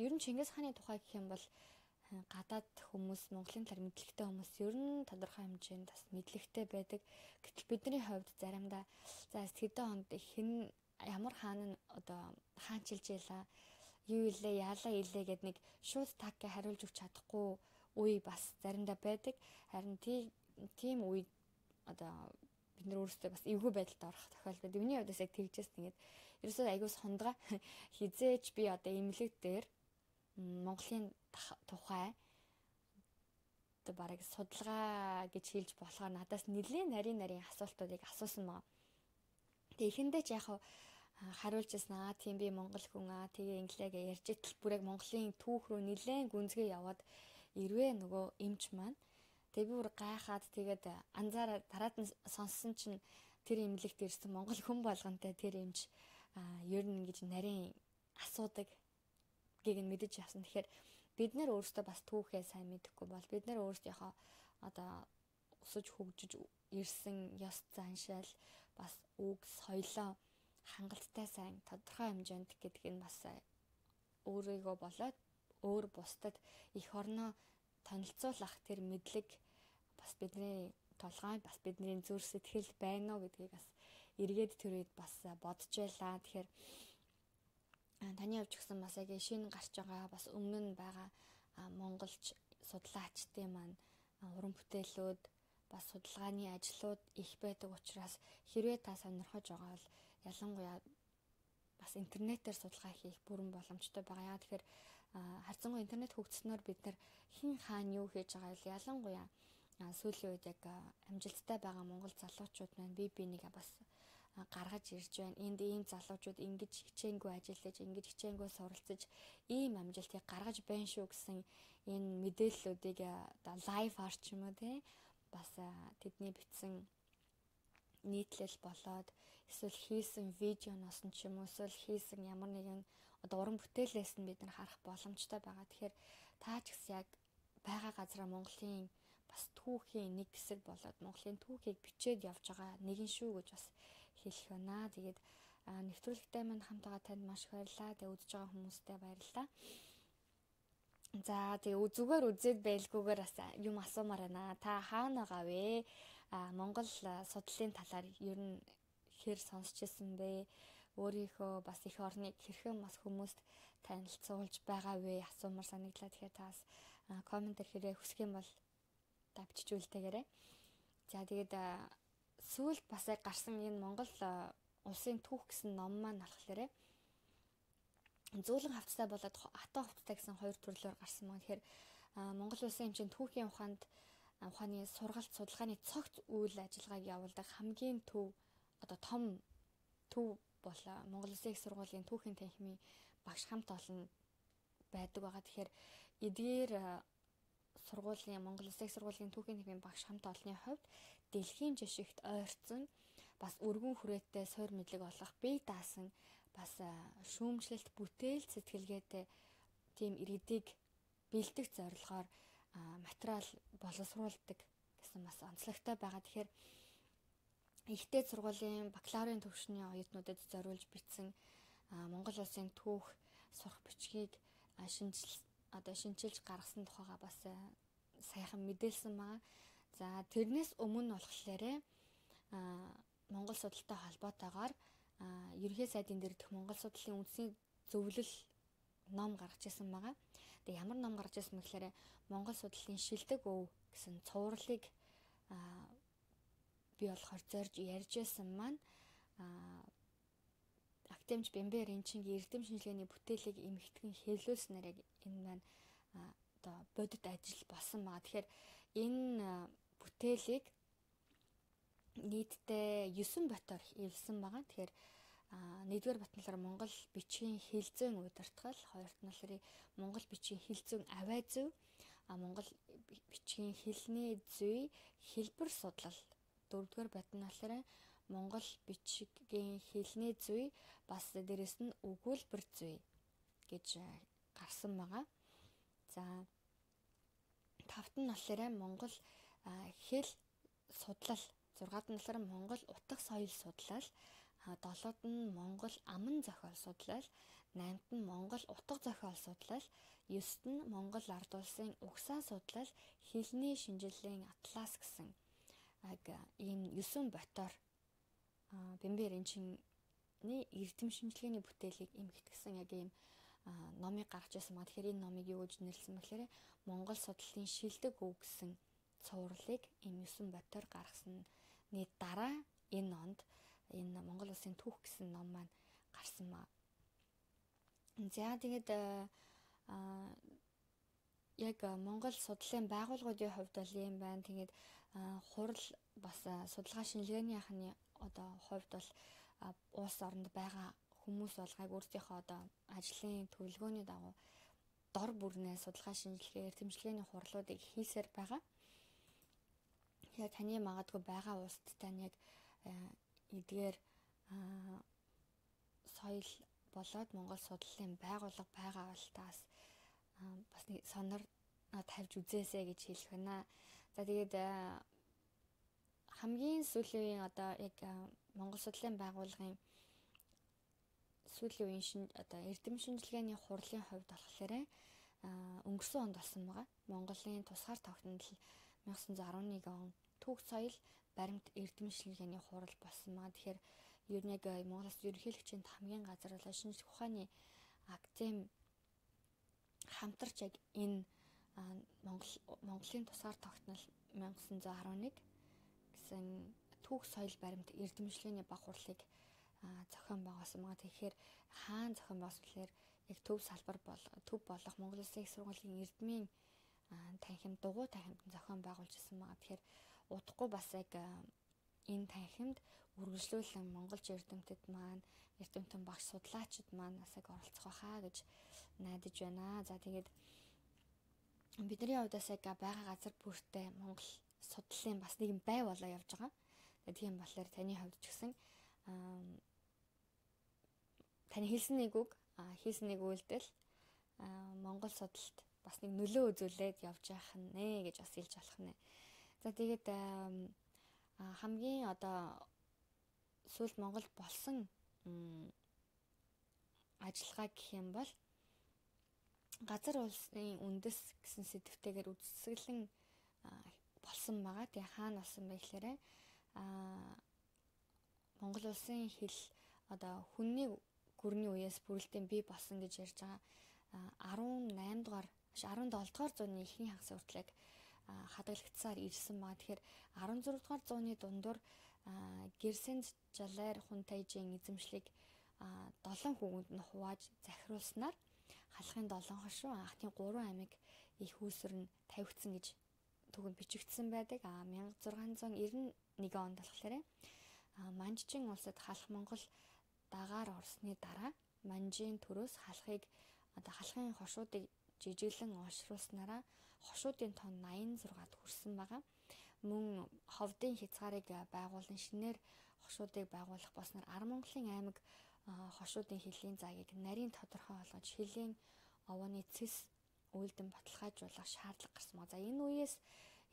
ер нь Чингис хааны тухай гэх юм бол гадаад хүмүүс, Монголын талаар мэдлэгтэй хүмүүс ер нь тодорхой хэмжээнд бас мэдлэгтэй байдаг. Гэтэл бидний хувьд заримдаа за хэдэн онд хэн ямар хаан нь одоо хаанчилж ялаа, юу илээ, яалаа илээ гэд нэг шууд таггээ хариулж өгч чадахгүй үе бас заримдаа байдаг. Харин тийм үе одоо бид нар өөрсдөө бас эвгүй байдалд орох тохиолдол байдаг. Миний хувьд бас яг тэгжээс тэгээд ерөөсөө аягүй сондгаа хизээч би одоо имлэг дээр Монголын тухай одоо бараг судалгаа гэж хэлж болохоор надаас нэлээд нарийн нарийн асуултуудыг асуусан маа. Тэгээ ихэндээ ч яг хариулж яснаа тийм би монгол хүн аа тэгээ инглигээ ярьж итэл бүр яг Монголын түүх рүү нэлээд гүнзгий яваад ирвэ нөгөө эмч маань. Тэгээ би бүр гайхаад тэгээд анзаараа дараад нь сонссон чинь тэр имлэгт ирсэн монгол хүн болгонтэй тэр эмч ер нь ингэж нарийн асуудаг гэг нь мэдэж явсан. Тэгэхээр бид нэр өөрсдөө бас түүхээ сайн мэдэхгүй бол бид нэр өөрсдийнхөө одоо өсөж хөгжиж ирсэн ёс заншаал бас үг соёлоо хангалттай сайн тодорхой хэмжээнд гэдэг нь бас өөрийгөө болоод өөр бусдад их орноо танилцуулах тэр мэдлэг бас бидний толгой бас бидний зүрх сэтгэл байна уу гэдгийг бас эргээд тэр үед бас бодож байлаа. Тэгэхээр таны хувьд ч гэсэн бас яг шинэ гарч байгаа бас өмнө нь байгаа монголч судлаачдын маань уран бүтээлүүд бас судалгааны ажлууд их байдаг учраас хэрвээ та сонирхож байгаа бол ялангуяа бас интернетээр судалгаа хийх бүрэн боломжтой байгаа. Яа тэгэхээр харьцангуй интернет хөгжснөөр бид нар хин хаана юу хийж байгаа вэ? Ялангуяа сүүлийн үед яг амжилттай байгаа монгол залуучууд маань бие бинийгээ бас гаргаж ирж байна. Энд ийм залуучууд ингэж хичээнгүй ажиллаж, ингэж хичээнгүй суралцаж, ийм амжилтыг гаргаж байна шүү гэсэн энэ мэдээллүүдийг одоо лайв арт ч юм уу тий бас тэдний бичсэн нийтлэл болоод эсвэл хийсэн видеоноос нь ч юм уу эсвэл хийсэн ямар нэгэн одоо уран бүтээлээс нь бид нар харах боломжтой байгаа. Тэгэхээр та ч гэсэн яг байгаа газараа Монголын бас түүхийн нэг хэсэг болоод Монголын түүхийг бичээд явж байгаа нэгэн шүү гэж бас хэлэх байна. Тэгээд нэвтрүүлэгтэй мань хамт байгаа танд маш их баярлалаа. Тэгээд үзэж байгаа хүмүүстээ баярлалаа. За тэгээ зүгээр үзээд байлгүйгээр бас юм асуумаар байна. Та хаана байгаа вэ? А Монгол судлалын талаар ер нь хэр сонсч ирсэн бэ? Өөрийнхөө бас их орныг хэрхэн бас хүмүүст танилцуулж байгаа вэ? Асуумаар санагдлаа. Тэгэхээр та бас комментээр хэрэг хүсэх юм бол та бичиж үлдээгээрэй. За тэгээд сүүлд бас яг гарсан энэ Монгол улсын түүх гэсэн ном маань болохоор зөөлөн хавцтай болоод хатан хавцтай гэсэн хоёр төрлөөр гарсан мөн. Тэгэхээр Монгол улсын хэмжээнд түүхийн ухаанд ухааны сургалт судалгааны цогц үйл ажиллагааг явуулдаг хамгийн төв одоо том төв бол Монгол Улсын их сургуулийн түүхийн танхимын багш хамт олон байдаг байгаа. Тэгэхээр эдгээр сургуулийн Монгол Улсын их сургуулийн түүхийн танхимын багш хамт олонны хувьд дэлхийн жишгт ойрцсон бас өргөн хүрээтэй суур мэдлэг олох бие даасан бас шүүмжлэлт бүтээл сэтгэлгээтэй тийм иргэдийг бэлдэх зорилгоор материал боловсруулдаг гэсэн бас онцлогтой байгаа. Тэгэхээр ихтэй сургуулийн бакалаврын төвшний оюутнуудад зориулж бичсэн Монгол улсын түүх сурах бичгийг шинжил одоо шинжилж гаргасан тухайга бас сайхан мэдээлсэн байгаа. За тэрнээс өмнө болохоор Монгол судалтай холбоотойгоор ерөнхий сайдын дэрдэх Монгол судлалын үндэсний зөвлөл ном гаргаж ирсэн байгаа. Тэгээ ямар ном гаргаж ирсэн мэхээр Монгол судлалын шилдэг өв гэсэн цувралыг би болохоор зорж ярьж байсан маань Актемч Бэмбэр Энчингийн эрдэм шинжилгээний бүтээлийг эмхтгэн хэвлүүлснээр яг энэ маань одоо бодит ажил болсон байгаа. Тэгэхээр энэ бүтээлийг нийтдээ девять ботоор эвлсэн байгаа. Тэгэхээр нэгдүгээр бот нь болохоор Монгол бичгийн хэлзэн удирдгал, хоёрт нь болохоор Монгол бичгийн хэлзэн авай зүй, Монгол бичгийн хэлний зүй, хэлбэр судлал, дөрөвдүгээр бот нь болохоор Монгол бичгийн хэлний зүй бас дээрэс нь өгүүлбэр зүй гэж гарсан байгаа. За тавт нь болохоор Монгол хэл судлал, зургаад нь болохоор Монгол утга соёл судлал, долоод нь Монгол аман зохиол судлал, найнт нь Монгол утга зохиол судлал, есд нь Монгол ард улсын угсаа судлал, хэлний шинжилгээний атлас гэсэн ийм юсүн ботоор Бэмбэр Энчиний эрдэм шинжилгээний бүтээлийг эмхэтгсэн яг ийм номыг гаргаж ирсэн. Тэгэхээр энэ номыг юу гэж нэрлсэн бэхээр Монгол судлалын шилдэг өв гэсэн цувралыг ийм юсүн ботоор гаргасны дараа энэ онд энэ Монгол улсын түүх гэсэн ном маань гарсан маа. За тэгээд яг Монгол судлалын байгууллагуудын хувьд бол юм байна. Тэгээд хурал бас судалгаа шинжилгээний анхны одоо хувьд бол улс оронд байгаа хүмүүс болгоог өөрсдийнхөө одоо ажлын төлөвлөгөөний дагуу дор бүрнээ судалгаа шинжилгээ, эрдэмчлэгээний хурлуудыг хийсээр байгаа. Яг таны магадгүй байгаа улсад тань яг эдгээр соёл болоод Монгол судлалын байгууллага байгаа бол таас бас нэг сонор тавьж үзээсэй гэж хэлэх байна. За тэгээд хамгийн сүүлийн одоо яг Монгол судлалын байгууллагын сүүлийн үеийн шин одоо эрдэм шинжилгээний хурлын хувьд болохоор өнгөрсөн онд болсон байгаа. Монголын тусгаар тогтнол найман арван нэг он түүх соёл баримт эрдэм шинжилгээний хурал болсон маа. Тэгэхээр ер нь яг Монголын ерөнхийлөгчийн хамгийн газар болоо шинжлэх ухааны академи хамтарч яг энэ Монгол Монголын тусгаар тогтнол найман арван нэг гэсэн түүх соёл баримт эрдэмшлэгийн баг хурлыг зохион байгуулсан байгаа. Тэгэхээр хаана зохион байгуулсан гэхээр яг төв салбар бол төв болох Монгол Улсын их сургуулийн эрдмийн танхимд дугуй танхимд зохион байгуулж ирсэн байгаа. Тэгэхээр удахгүй бас яг энэ танхимд үргэлжлүүлэн монголч эрдэмтэд маань эрдэмтэн багш судлаачид маань бас яг оролцох байхаа гэж найдаж байна. За тэгээд бидний хувьдаас яг байгаа газар бүртээ Монгол судлалын бас нэгэн бай болоо явж байгаа. Тэгээд тийм болохоор таны хувьд ч гэсэн таны хэлсэн нэг үг, хийсэн нэг үйлдэл Монгол судалт бас нэг нөлөө үзүүлээд явж байх нэ гэж бас хэлж болох нэ. За тэгээд хамгийн одоо сүүлд Монголд болсон ажиллагаа гэх юм бол газар улсын үндэс гэсэн сэдвтэйгээр үзэсгэлэн болсон байгаа. Тэгээ хаана болсон бэ гэхээр Монгол улсын хэл одоо хүнний гүрний үеэс бүрэлдэхүүн бий болсон гэж ярьж байгаа. арван найм дугаар, арван долоо дугаар зууны ихний хагас хүртэлэг хадгалагдсаар ирсэн ба. Тэгэхээр арван зураг дугаар зууны дундуур Гэрсэнд Жалайр Хунтайжийн эзэмшлийг долоон хүүгэнд нь хувааж захируулснаар халахын долоон хошуу анхны гурван аймаг их үүсвэр нь тавигдсан гэж түүхэнд бичигдсэн байдаг. А мянга зургаан зуун девяносто нэг онд болохоор Манжчин улсад халах Монгол дагаар орсны дараа Манжийн төрөөс халахыг одоо халахын хошуудыг жижиглэн олшруулснараа хошуудын тон восемьдесят шестад хүрсэн байгаа. Мөн ховдын хязгаарыг байгуулан шинээр хошуудыг байгуулах болсноор Ар Монголын аймаг хошуудын хэллийн заагийг нарийн тодорхой болгож хэллийн овооны цэс үйлдэн баталгаажуулах шаардлага гарсан байна. За энэ үеэс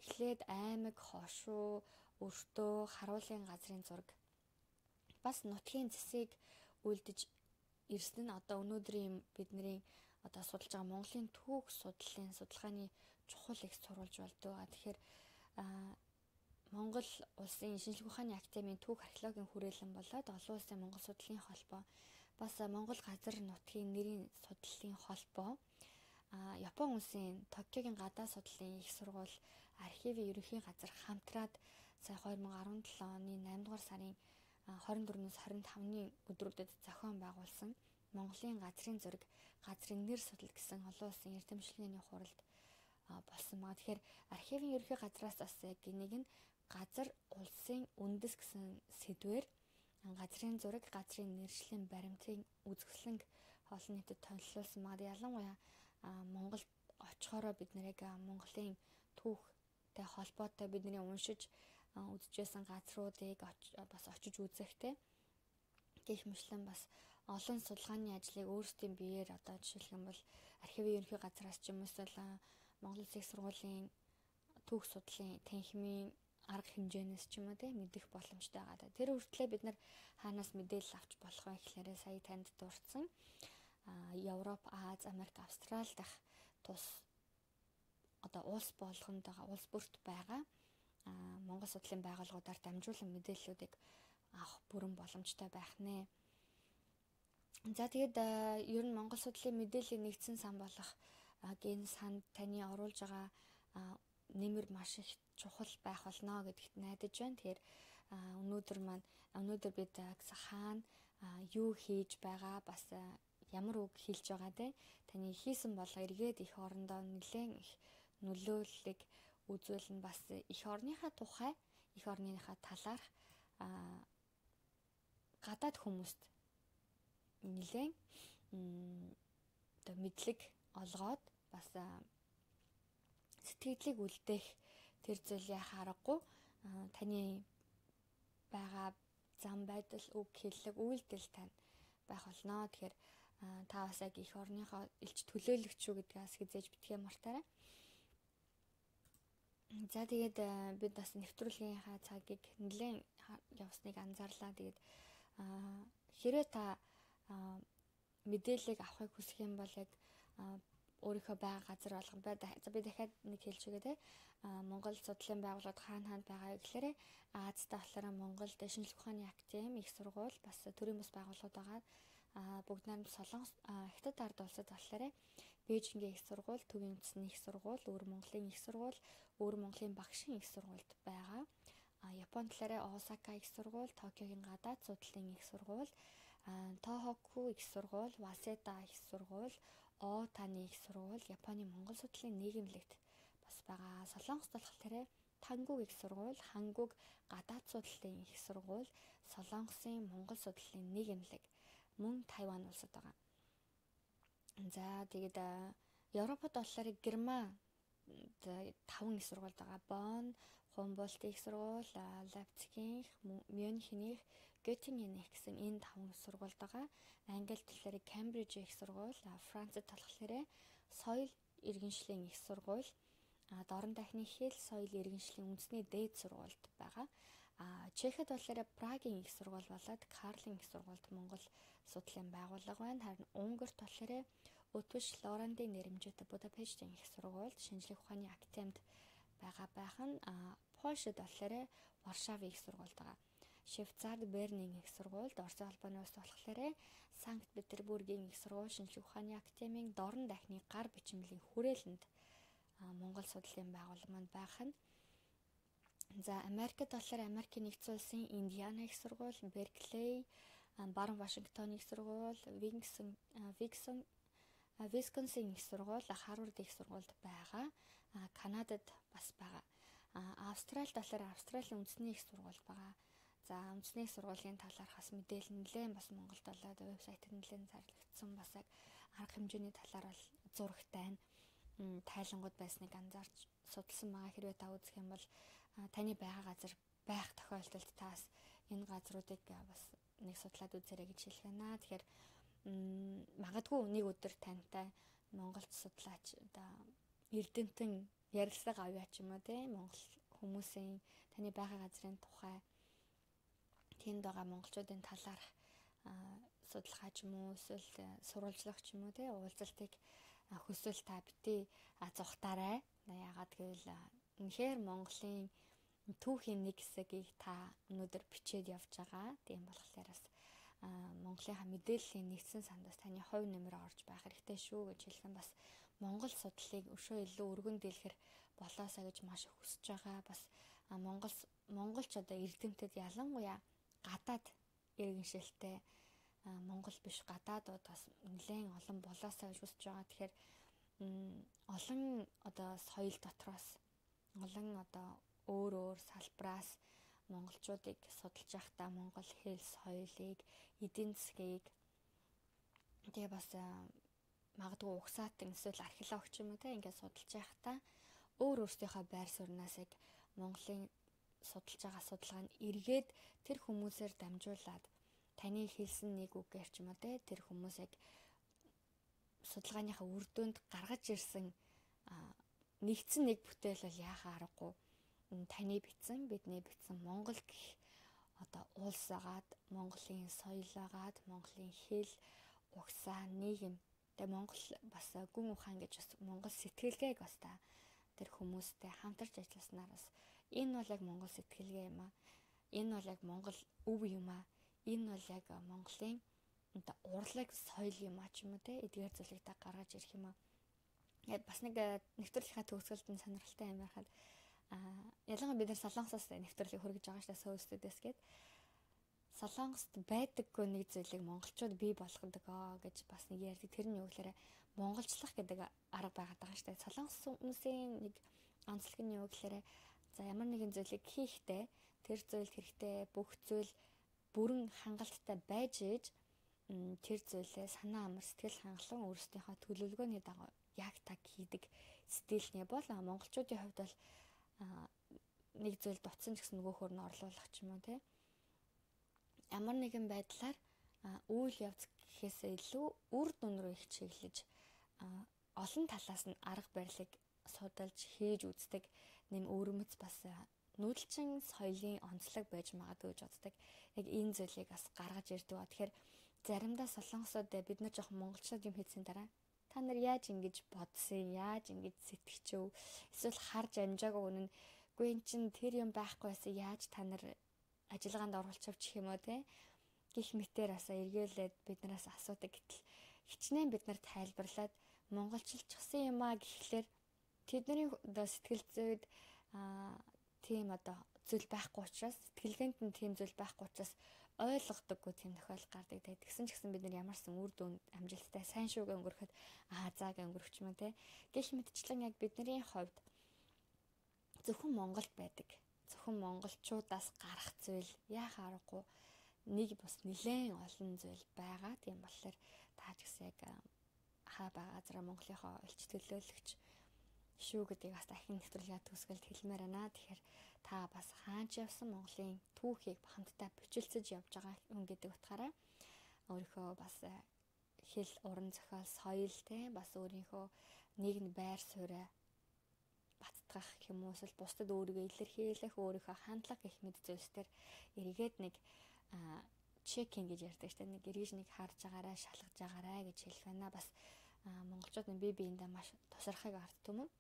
эхлээд аймаг, хошуу, өртөө, харуулын газрын зураг бас нутгийн цэсийг үйлдэж ирсэн нь одоо өнөөдрийн бидний одоо судалж байгаа Монголын түүх судлалын судалгааны чухал их сурвалж болдог. Тэгэхээр Монгол улсын шинжлэх ухааны академийн түүх археологийн хүрээлэн болоод олон улсын Монгол судлалын холбоо бас Монгол газар нутгийн нэрийн судлалын холбоо Япон улсын Токиогийн гадаа судлалын их сургууль архивын ерөнхий газар хамтраад сая две тысячи десять оны найман дугаар сарын двадцать четвёрөөс двадцать пятны өдрүүдэд зохион байгуулсан Монголын газрын зураг, газрын нэр судал гэсэн олон улсын эрдэмшлэгийн хуралд болсон байгаа. Тэгэхээр архивын ерөнхий газраас бас яг нэг нь газар улсын үндэс гэсэн сэдвээр газрын зураг, газрын нэршлийн баримтын үзэсгэлэнг олон нийтэд тонилуулсан байгаа. Ялангуяа Монголд очихороо бид нэрийг Монголын түүхтэй холбоотой бидний уншиж үзэжсэн газруудыг бас очиж үзэхтэй. Гэх мэтлэн бас олон судалгааны ажлыг өөрсдийн биеэр одоо жишээлх юм бол архивын ерөнхий газраас ч юм уу эсвэл Монгол Улсын их сургуулийн түүх судлалын танхимын арга хэмжээнээс ч юм уу те мэдэх боломжтой байгаа. Тэр хүртлээр бид нар хаанаас мэдээлэл авч болох вэ гэхээр сая танд дурдсан Европ, Аз, Америк, Австрал дах тус одоо улс болгонд байгаа улс бүрт байгаа Монгол судлалын байгууллагуудаар дамжуулан мэдээллүүдийг авах бүрэн боломжтой байх нэ. За тэгээд ер нь Монгол судлалын мэдээллийн нэгдсэн сан болох энэ санд таны оруулж байгаа нэмэр маш их чухал байх болно гэдэгт найдаж байна. Тэгэхээр өнөөдөр маань өнөөдөр бид хаана юу хийж байгаа бас ямар үг хэлж байгаа те таны хийсэн болго эргээд их орондоо нэлээд их нөлөөллийг үзүүлнэ. Бас их орныхаа тухай их орныхаа талаарх гадаад хүмүүст нэлээд одоо мэдлэг олгоод бас сэтгэлийг үлдээх тэр зүйлээ харахгүй таны байгаа зам байдал, үг хэллэг, үйлдэл тань байх болно. Тэгэхээр та бас яг их орныхоо элч төлөөлөгч шүү гэдгээс хизээж битгий мартаарай. За тэгээд бид бас нэвтрүүлгийнхаа цагийг нэлээд явсныг анзаарлаа. Тэгээд хэрвээ та мэдээллийг авахыг хүсэх юм бол яг өөрийнхөө байгаа газар болгон бай. За би дахиад нэг хэлж өгье те. Монгол судлалын байгууллагууд хаана хаана байгаа гэхээр Азтай болохоор Монгол шинжлэх ухааны академи, их сургууль, бас төрийн бас байгууллагууд байгаа. Бүгд найрамд Солонгос Хятад ард улсад болохоор Бээжингийн их сургууль, Төвийн үндэсний их сургууль, Өвөр Монголын их сургууль, Өвөр Монголын багшийн их сургуульд байгаа. Японд болохоор Осака их сургууль, Токиогийн гадаад судлалын их сургууль, Тохоку их сургууль, Васеда их сургууль, Отаны их сургууль, Японы Монгол судлалын нийгэмлэгт бас байгаа. Солонгост болохоор Тангуг их сургууль, Хангуг гадаад судлалын их сургууль, Солонгосын Монгол судлалын нийгэмлэг, мөн Тайван улсад байгаа. За тэгээд Европод болохоор Герман таван их сургууль байгаа. Бонн, Хумбольдт их сургууль, Лейпцигийнх, Мюнхенийх, Göttingenийх гэсэн энэ таван их сургууль байгаа. Англид болохоор Кембриж их сургууль, Францад болохоор соёл иргэншлийн их сургууль, дорн дахны хэл, соёл иргэншлийн үндэсний дээд сургуульд байгаа. Чехэд болохоор Прагийн их сургууль болоод Карлын их сургуульд Монгол судлалын байгууллага байна. Харин Унгарт болохоор Өтвөш Лорандын нэрэмжтэй Будапештийн их сургуульд шинжлэх ухааны академид байгаа байх нь Польшид болохоор Варшавын их сургуульд байгаа. Швейцард Бернийн их сургуульд, Орсын албаны улс болохоор Санкт Петербургийн их сургууль шинжлэх ухааны академийн дорн дахны гар бичмэлийн хүрээлэнд Монгол судлалын байгууллага манд байх нь. За Америкт болохоор Америкийн нэгдсэн улсын Индиана их сургууль, Берклей, Баруун Вашингтон их сургууль, Винксон Виксон Висконсин их сургууль, Харвард их сургуульд байгаа. Канадад бас байгаа. Австралид болохоор Австралийн үндэсний их сургууль байгаа. За үндэсний их сургуулийн талаарх бас мэдээлэл нэлээд бас Монголд болоод вебсайтд нэлээд зарлагдсан. Бас яг арга хэмжээний талаар бол зурагтай нь тайлангууд байсныг анзаарч судалсан байгаа. Хэрвээ та үзэх юм бол таны байгаа газар байх тохиолдолд таас энэ газруудыг бас нэг судлаад үзээрэй гэж хэлэх байна. Тэгэхээр магадгүй нэг өдөр тантай Монголд судлаач одоо эрдэмтэн ярилцлага авъя ч юм уу те Монгол хүмүүсийн таны байгаа газрын тухай тэнд байгаа монголчуудын талаарх судалгаа ч юм уу эсвэл сурвалжлах ч юм уу те уулзалтыг хүсвэл та битээ зугатаарай. Яагаад гэвэл үнэхээр Монголын түүхийн нэг хэсгийг та өнөөдөр бичээд явж байгаа. Тийм болохоор бас Монголынхаа мэдээллийн нэгдсэн сандаас таны хувь нэмрээ орж байх хэрэгтэй шүү гэж хэлсэн. Бас Монгол судлалыг өшөө илүү өргөн дэлгэр болоосаа гэж маш их хүсэж байгаа. Бас Монгол монголч одоо эрдэмтэд ялангуяа гадаад иргэншилтэй Монгол биш гадаадууд бас нэлээд олон болоосаа гэж хүсэж байгаа. Тэгэхээр олон одоо соёл дотроос олон одоо өөр өөр салбраас монголчуудыг судалж байхдаа монгол хэл соёлыг, эдийн засгийг тэгээ бас магадгүй угсаатан эсвэл археологч юм уу те ингээд судалж байхдаа өөр өөрсдийнхөө байр сууриас яг Монголын судалж байгаа судалгаа нь эргээд тэр хүмүүсээр дамжуулаад таны хэлсэн нэг үг гэрч юм уу те тэр хүмүүсийг судалгааныхаа үр дүнд гаргаж ирсэн нэгдсэн нэг бүтээл бол яхаа аргагүй таны бичсэн бидний бичсэн Монгол гэх одоо улс агаад Монголын соёл агаад Монголын хэл угсаа нийгэм тэгээ Монгол бас гүн ухаан гэж бас Монгол сэтгэлгээг бас та тэр хүмүүстэй хамтарч ажилласнаар бас энэ бол яг Монгол сэтгэлгээ юм аа. Энэ бол яг Монгол өв юм аа. Энэ бол яг Монголын одоо урлаг соёл юм аа ч юм уу те эдгээр зүйлийг та гаргаж ирэх юм аа. Яг бас нэг нэвтрүүлгийнхаа төгсгөлд нь сонирхолтой юм байхад аа ялангуяа бид нар Солонгосоос нэвтрүүлгийг хөргөж байгаа шүү дээ Soul Studios гээд Солонгост байдаггүй нэг зүйлийг монголчууд бий болгодог аа гэж бас нэг ярьдаг. Тэр нь юу гэхээр монголчлах гэдэг арга байгаад байгаа шүү дээ. Солонгос хүмүүсийн нэг онцлог нь юу гэхээр за ямар нэгэн зүйлийг хийхдээ тэр зүйлд хэрэгтэй бүх зүйл бүрэн хангалттай байж ээж тэр зүйлээ санаа амар сэтгэл хангалуун өөрсдийнхөө төлөвлөгөөний дагуу яг так хийдэг стилний бол монголчуудын хувьд бол нэг зүйл дутсан ч гэсэн нөгөөхөр нь орлуулах ч юм уу те ямар нэгэн байдлаар үйл явц гэхээсээ илүү үр дүн рүү их чиглэж олон талаас нь арга барилыг судалж хийж үздэг нэм өөрмөц бас нүүдэлчин соёлын онцлог байж магадгүй гэж боддог. Яг энэ зүйлийг бас гаргаж ирдэг. Тэгэхээр заримдаа солонгосууд бид нар жоохон монголчууд юм хийсэн дараа та нар яаж ингэж бодсон, яаж ингэж сэтгэчв, эсвэл харж амжаагүй үнэн гүй эн чин тэр юм байхгүй байсан яаж та нар ажиллагаанд оруулчих юм уу те гих мэтэр асаа эргээлээд биднээс асуудаг гэтэл хичнээн бид нар тайлбарлаад монголчилчихсан юм а гэхлээр тэдний сэтгэл зүйд аа тийм одоо зүйл байхгүй учраас сэтгэлгээнд нь тийм зүйл байхгүй учраас ойлгодоггүй тийм тохиол гардаг. Тэгсэн ч гэсэн бид нар ямарсан үр дүн амжилттай сайн шүүгээ өнгөрөхөд аа зааг өнгөрөх юм те гэх мэтчлэн яг бидний хувьд зөвхөн Монголд байдаг. Зөвхөн монголчуудаас гарах зүйл яхаа аргагүй нэг бас нэлээд олон зүйл байгаа. Тийм болохоор таач гэсэн яг хаа байгаа зэрэг Монголынхоо элч төлөөлөгч шүү гэдгийг бас дахин нэвтрүүлгээ төгсгөлд хэлмээр байна. Тэгэхээр та бас хаач явсан Монголын түүхийг хамтдаа бичилцэж явж байгаа хүн гэдэг утгаараа өөрийнхөө бас хэл уран зохиол соёл те бас өөрийнхөө нийгэм байр суурь баттгах юм уу эсвэл бусдад өөрийгөө илэрхийлэх өөрийнхөө хандлага гэх мэт зүйлсээр эргээд нэг чекинг гэж ярьдаг шүү дээ. Нэг эргэж нэг харж байгаарай, шалгаж байгаарай гэж хэлэх байна. Бас монголчууд нь бие биендээ маш тусархайг арддаг юм.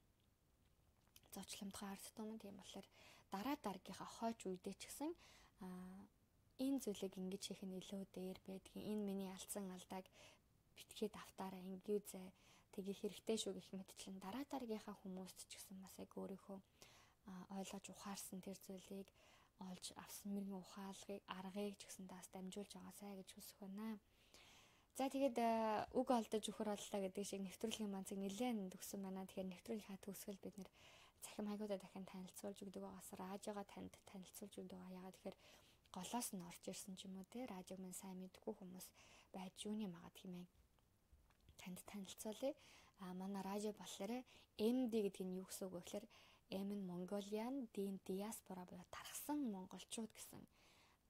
Зочломтгой арддаг юм. Тийм болохоор дараа дараагийнхаа хойч үедээ ч гэсэн энэ зүйлийг ингэж хийх нь илүү дээр байдгийн. Энэ миний алдсан алдааг битгий давтаараа ингэвзээ тэгээ хэрэгтэй шүү гэх мэтчлэн дараа дараагийнхаа хүмүүст ч гэсэн бас яг өөрийнхөө ойлгож ухаарсан тэр зүйлийг олж авсан мэрэгэн ухаалгыг аргыг ч гэсэн таас дамжуулж байгаасай гэж хүсэх байна. За тэгээд үг олдож өхөр оллоо гэдэг шиг нэвтрүүлгийн манцыг нэлээд төгсөн байна. Тэгэхээр нэвтрүүлгийн төгсгөл бид нэр цахим хайгуудаа дахин танилцуулж өгдөг байгаас радиогоо танд танилцуулж өгдөг байгаа. Ягаад тэгэхээр голоос нь орж ирсэн ч юм уу те радиог мань сайн мэдгүй хүмүүс байж юуны магаад хэмээн танд танилцуулъя. А манай радио болохоор эм ди гэдэг нь юу гэсэн үг вэ гэхээр M нь Mongolian, D нь diaspora буюу тархсан монголчууд гэсэн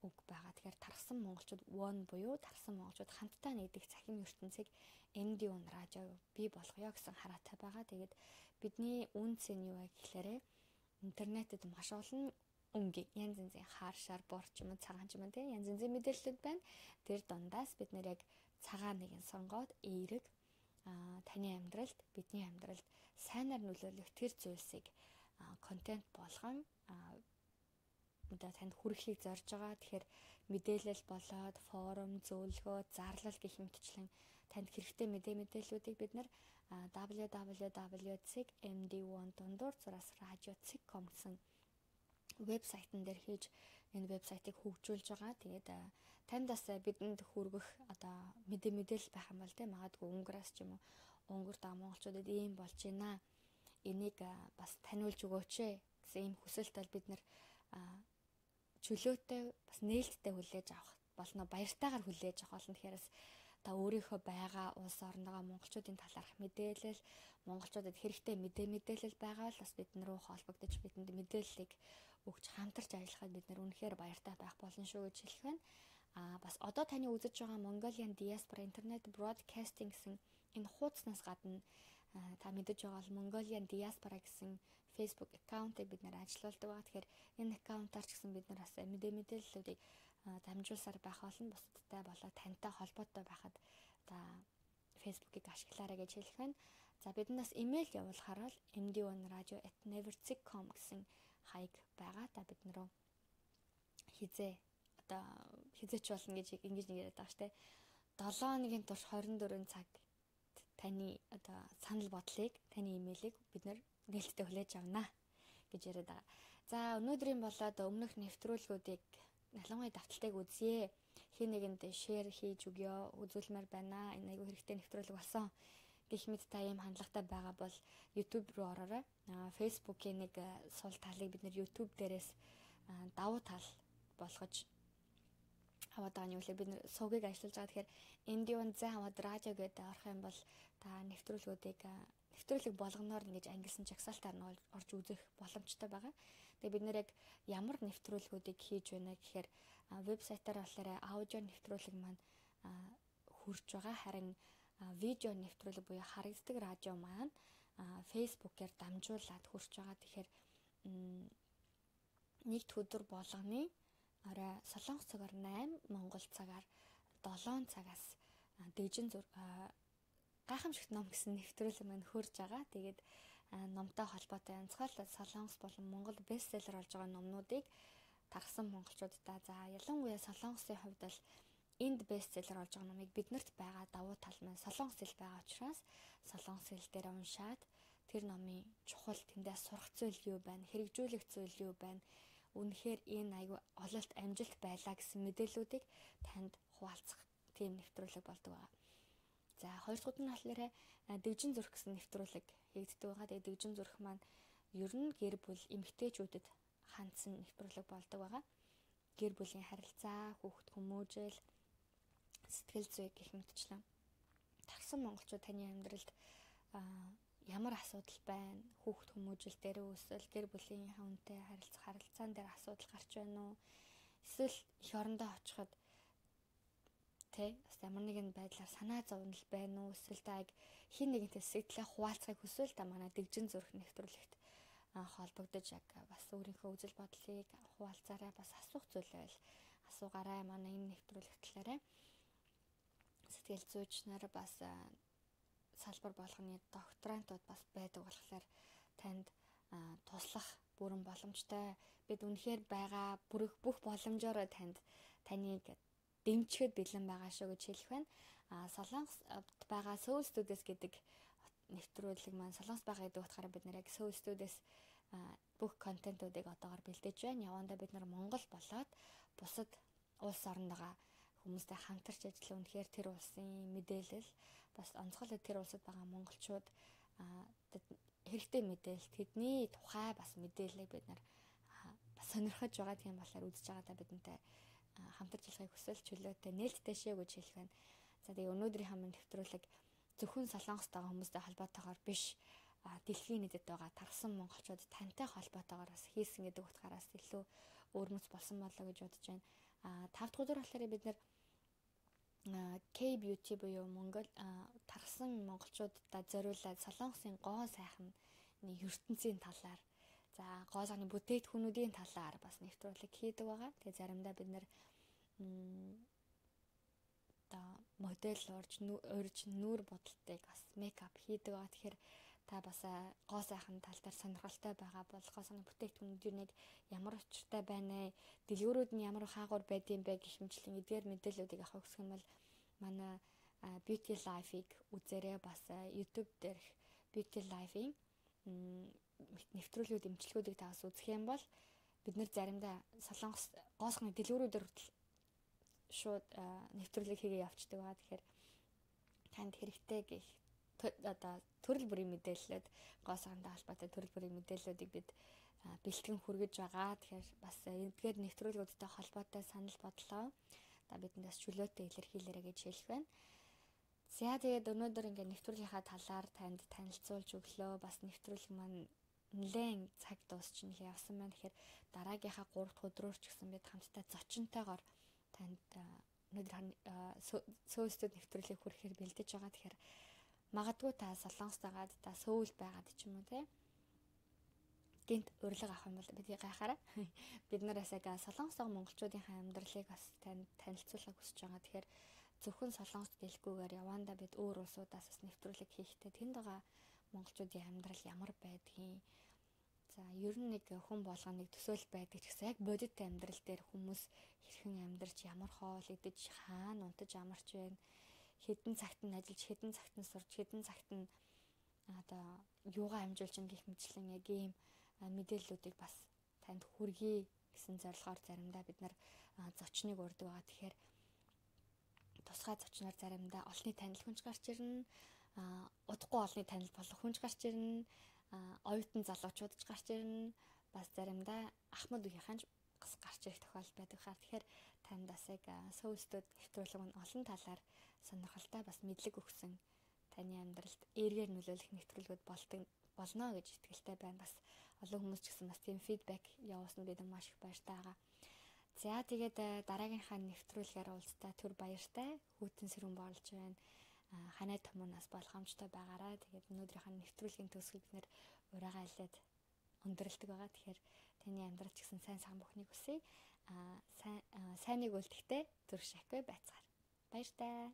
үг байгаа. Тэгэхээр тархсан монголчууд one буюу тархсан монголчууд хамтдаа нэгдэх цахим ертөнцийг эм ди one радио бий болгоё гэсэн хараатай байгаа. Тэгээд бидний үнц нь юу вэ гэхээр интернетэд маш олон өнгийн янз янзын хаар шар борч юм цагаан ч юм те янз янзын мэдээлэлүүд байна. Тэр дундаас бид нэр яг цагаан нэг нь сонгоод эерэг а таны амьдралд бидний амьдралд сайнаар нөлөөлөх тэр зүйлсийг контент болгон одоо танд хүрэхийг зорж байгаа. Тэгэхээр мэдээлэл болоод форум, зөвлөгөө, зарлал гэх мэтчлэн танд хэрэгтэй мэдээ мэдээллүүдийг бид нар дабл ю дабл ю дабл ю дот эм ди one дундуур зураас радио дот ком гэсэн вебсайтн дээр хийж энэ вебсайтыг хөгжүүлж байгаа. Тэгээд танд бас бидэнд хүргэх одоо мэдээ мэдээлэл байх юм бол тэ магадгүй өнгөрөөс ч юм уу өнгөр даа монголчуудад ийм болж байна. Энийг бас таниулж өгөөч гэсэн ийм хүсэлт бол бид нар чөлөөтэй бас нээлттэй хүлээж авах болно. Баяртайгаар хүлээж авах болно. Тэгэхээр та өөрийнхөө байгаа улс орногоо монголчуудын талаарх мэдээлэл, монголчуудад хэрэгтэй мэдээ мэдээлэл байгаа л бас бид нар руу холбогдож бидэнд мэдээллийг өгч хамтарч ажиллахад бид нэр үнэхээр баяртай байх болно шүү гэж хэлэх байна. Аа бас одоо таны үзэж байгаа Mongolian Diaspora Internet Broadcasting гэсэн энэ хуудаснаас гадна та мэдэж байгаа бол Mongolian Diaspora гэсэн Facebook аккаунтыг бид нэр ажиллаулдаг байгаа. Тэгэхээр энэ аккаунтаар ч гэсэн бид нар бас мэдээ мэдээллүүдийг дамжуулсаар байх болно. Бусдтай болоо тантай холбоотой байхад та Facebook-ыг ашиглаарай гэж хэлэх байна. За биднээс имэйл явуулахаар бол эм ди one radio at never zig dot com гэсэн хаяг байгаа. Та бид нэрөө хизээ одоо хизээч болно гэж ингэж нэг яриад байгаа штэ. долоо хоногийн турш хорин дөрвөн цаг таны одоо санал бодлыг, таны имэйлийг бид нэр нээлттэй хүлээж авнаа гэж яриад байгаа. За өнөөдрийн болоод өмнөх нэвтрүүлгүүдийг ялангуяа давталтайг үзье. Хин нэгэнд шеэр хийж өгөө, үзүүлмээр байна. Энэ айгүй хэрэгтэй нэвтрүүлэг болсон. Гэх мэт та ийм хандлагатай байгаа бол YouTube руу ороорой. Facebook-ийн нэг сул талыг бид нэр YouTube дээрээс давуу тал болгож аваад байгаа нь юу вэ? Бид нэр сувгийг ажиллаж байгаа. Тэгэхээр эм ди one Завад радио гэдэг орох юм бол та нэвтрүүлгүүдийг нэвтрүүлэг болгоноор ингэж ангилсан жагсаалтаар нь орж үзэх боломжтой байгаа. Тэгээ бид нэр яг ямар нэвтрүүлгүүдийг хийж байна гэхээр вебсайтаар болохоор аудио нэвтрүүлэг маань хүрж байгаа. Харин видео нэвтрүүлэг буюу харагддаг радио маань Facebook-ээр дамжуулаад хүрч байгаа. Тэгэхээр нэгд өдөр болгоны орой Солонгос цагаар найман, Монгол цагаар долоон цагаас дижин зур гайхамшигт ном гэсэн нэвтрүүлэг маань хурж байгаа. Тэгээд номтой холбоотой онцгойлол Солонгос болон Монгол бестселлер болж байгаа номнуудыг тархсан монголчуудаа за ялангуяа Солонгосын хувьд бол энд бестселлер болж байгаа номыг биднэрт байгаа давуу тал маань Солонгос хэл байгаа учраас Солонгос хэл дээр уншаад тэр номын чухал тэндээ сурах зүйл юу байна, хэрэгжүүлэх зүйл юу байна, үнэхээр энэ айгүй ололт амжилт байлаа гэсэн мэдээллүүдийг танд хуваалцах тийм нэвтрүүлэг болдог байгаа. За хоёр дахь нь болохоор дэгжин зүрх гэсэн нэвтрүүлэг хийгддэг байгаа. Тэгээд дэгжин зүрх маань ер нь гэр бүл эмэгтэйчүүдэд хандсан нэвтрүүлэг болдог байгаа. Гэр бүлийн харилцаа, хүүхэд хүмүүжил, сэтгэл зүй гэх мэтчлэн тархсан монголчууд таны амьдралд ямар асуудал байна, хүүхэд хүмүүжил дээр үүсвэл гэр бүлийн хүнтэй харилцах харилцаан дээр асуудал гарч байна уу? Эсвэл эх орондоо очиход тэ ямар нэгэн байдлаар санаа зовнил байна уу? Эсвэл та хин нэгэнтэй сэтгэлээ хуваалцахыг хүсвэл та манай дэгжин зүрх нэвтрүүлэгт холбогдож яг бас өөрийнхөө үзэл бодлыг хуваалцаарай, бас асуух зүйл байл асуугаарай. Манай энэ нэвтрүүлэгт талаараа сэтгэл зүйч нар бас салбар болгоны докторантууд бас байдаг болохоор танд туслах бүрэн боломжтой. Бид үнэхээр байгаа бүрэх бүх боломжоор танд таныг дэмжихэд бэлэн байгаа шүү гэж хэлэх байна. А Солонгосд байгаа Soul Studios гэдэг нэвтрүүлэг маань Солонгос байгаа гэдэг утгаараа бид нэр яг Soul Studios бүх контентуудыг одоогоор бэлдэж байна. Явандаа бид нар Монгол болоод бусад улс оронд байгаа хүмүүстэй хамтарч ажиллах үнэхээр тэр улсын мэдээлэл бас онцгойлоод тэр улсад байгаа монголчууд хэрэгтэй мэдээлэл тэдний тухай бас мэдээллийг бид нар бас сонирхож байгаа тийм болохоор үзэж байгаадаа бидэнтэй хамтарч ажиллахыг хүсвэл чөлөөтэй нээлттэй шээ гэж хэлэх байна. За тэгээ өнөөдрийн хамт нэвтрүүлэг зөвхөн Солонгост байгаа хүмүүстэй холбоотойгоор биш дэлхийн нийтэд байгаа тархсан монголчууд тантай холбоотойгоор бас хийсэн гэдэг утгаараас илүү өөрмөц болсон болоо гэж бодож байна. А тав дахь өдөр болохоор бид нэр K-beauty буюу Монгол тархсан монголчуудад зориулаад Солонгосын гоо сайхан ертөнцийн талаар за гоо сайхны бүтээгдэхүүнүүдийн талаар бас нэвтрүүлэг хийдэг байгаа. Тэгээ заримдаа бид нэр та модель урьж урьж нүүр бодолтыг бас мейкап хийдэг байгаа. Тэгэхээр та бас гоо сайхан тал дээр сонирхолтой байгаа бол гоо сайхны бүтээгдэхүүнүүд нэг ямар учиртай байна, дэлгүүрүүд нь ямар хаагур байдсан бэ гэх мэтлэн эдгээр мэдээллүүдийг авах гэсэн бол манай Beauty Life-ыг үзээрэй. Бас YouTube дээрх Beauty Life-ийн нэвтрүүлгүүд эмчилгүүдийг та бас үзэх юм бол бид нэр заримдаа Солонгос гоо сайхны дэлгүүрүүдээр шууд нэвтрүүлэг хийгээ явцдаг байгаа. Тэгэхээр танд хэрэгтэй гэх одоо төрөл бүрийн мэдээллүүд гоо сайхантай холбоотой төрөл бүрийн мэдээллүүдийг бид бэлтгэн хүргэж байгаа. Тэгэхээр бас эдгээр нэвтрүүлгүүдтэй холбоотой санал бодлоо та бидэндээс чөлөөтэй илэрхийлээрэй гэж хэлэх байна. За тэгээд өнөөдөр ингээд нэвтрүүлгийнхаа талаар танд танилцуулж өглөө. Бас нэвтрүүлэг маань нэлээд цаг дуусчихна л явсан байна. Тэгэхээр дараагийнхаа гурав дахь өдрөөр ч гэсэн бид хамтдаа зочинтойгоор танд өнөөдөр Сөүстүүд нэвтрүүлгийг хүрэхээр бэлдэж байгаа. Тэгэхээр магадгүй та Солонгост байгаад та Сөүл байгаад ч юм уу те гинт урилга авах юм бол бидний гайхаараа бид нараас яг солонгосоо монголчуудынхаа амьдралыг бас танд танилцуулахыг хүсэж байгаа. Тэгэхээр зөвхөн солонгост гэлгүйгээр явандаа бид өөр улсуудаас бас нэвтрүүлэг хийхдээ тэнд байгаа монголчуудын амьдрал ямар байдгийг за ер нь нэг хүн болгоныг төсөөл байдаг ч гэсэн яг бодит амьдрал дээр хүмүүс хэрхэн амьдарч ямар хоол идэж хаана унтаж амарч байна хэдэн цагт нь ажиллаж хэдэн цагт нь сурч хэдэн цагт нь одоо юугаа амжуулж ин гэх мэтлэн яг ийм мэдээллүүдийг бас танд хүргэе гэсэн зорилгоор заримдаа бид нар зочныг урьдаг байгаа. Тэгэхээр тусгай зочноор заримдаа олонний танил хүнж гарч ирнэ, удахгүй олонний танил болох хүнж гарч ирнэ, оюутан залуучууд ч гарч ирнэ, бас заримдаа ахмад үеийнхэн бас гарч ирэх тохиолдол байдаг хаа. Тэгэхээр танд бас яг Сөүстүүд нэвтрүүлэг нь олон талаар сонирхолтой бас мэдлэг өгсөн таны амьдралд эргээр нөлөөлөх нэвтрүүлгүүд болдог болно гэж итгэлтэй байна. Бас олон хүмүүс ч гэсэн бас тийм фидбек явуулсан бид маш их баяртай байгаа. За тэгээд дараагийнхаа нэвтрүүлгээр уулзтаа түр баяртай. Хүйтэн сэрүүн болж байна. Ханай томоноос болгоомжтой байгаарай. Тэгээд өнөөдрийнхээ нэвтрүүлгийн төгсгөл бид нэр ураагаа илээд өндөрлөдөг байгаа. Тэгэхээр таны амьдрал ч гэсэн сайн сайн бүхнийг хүсье. Аа сайн сайныг үлдэхдээ зүрх шахгүй байцгаар. Баяртай.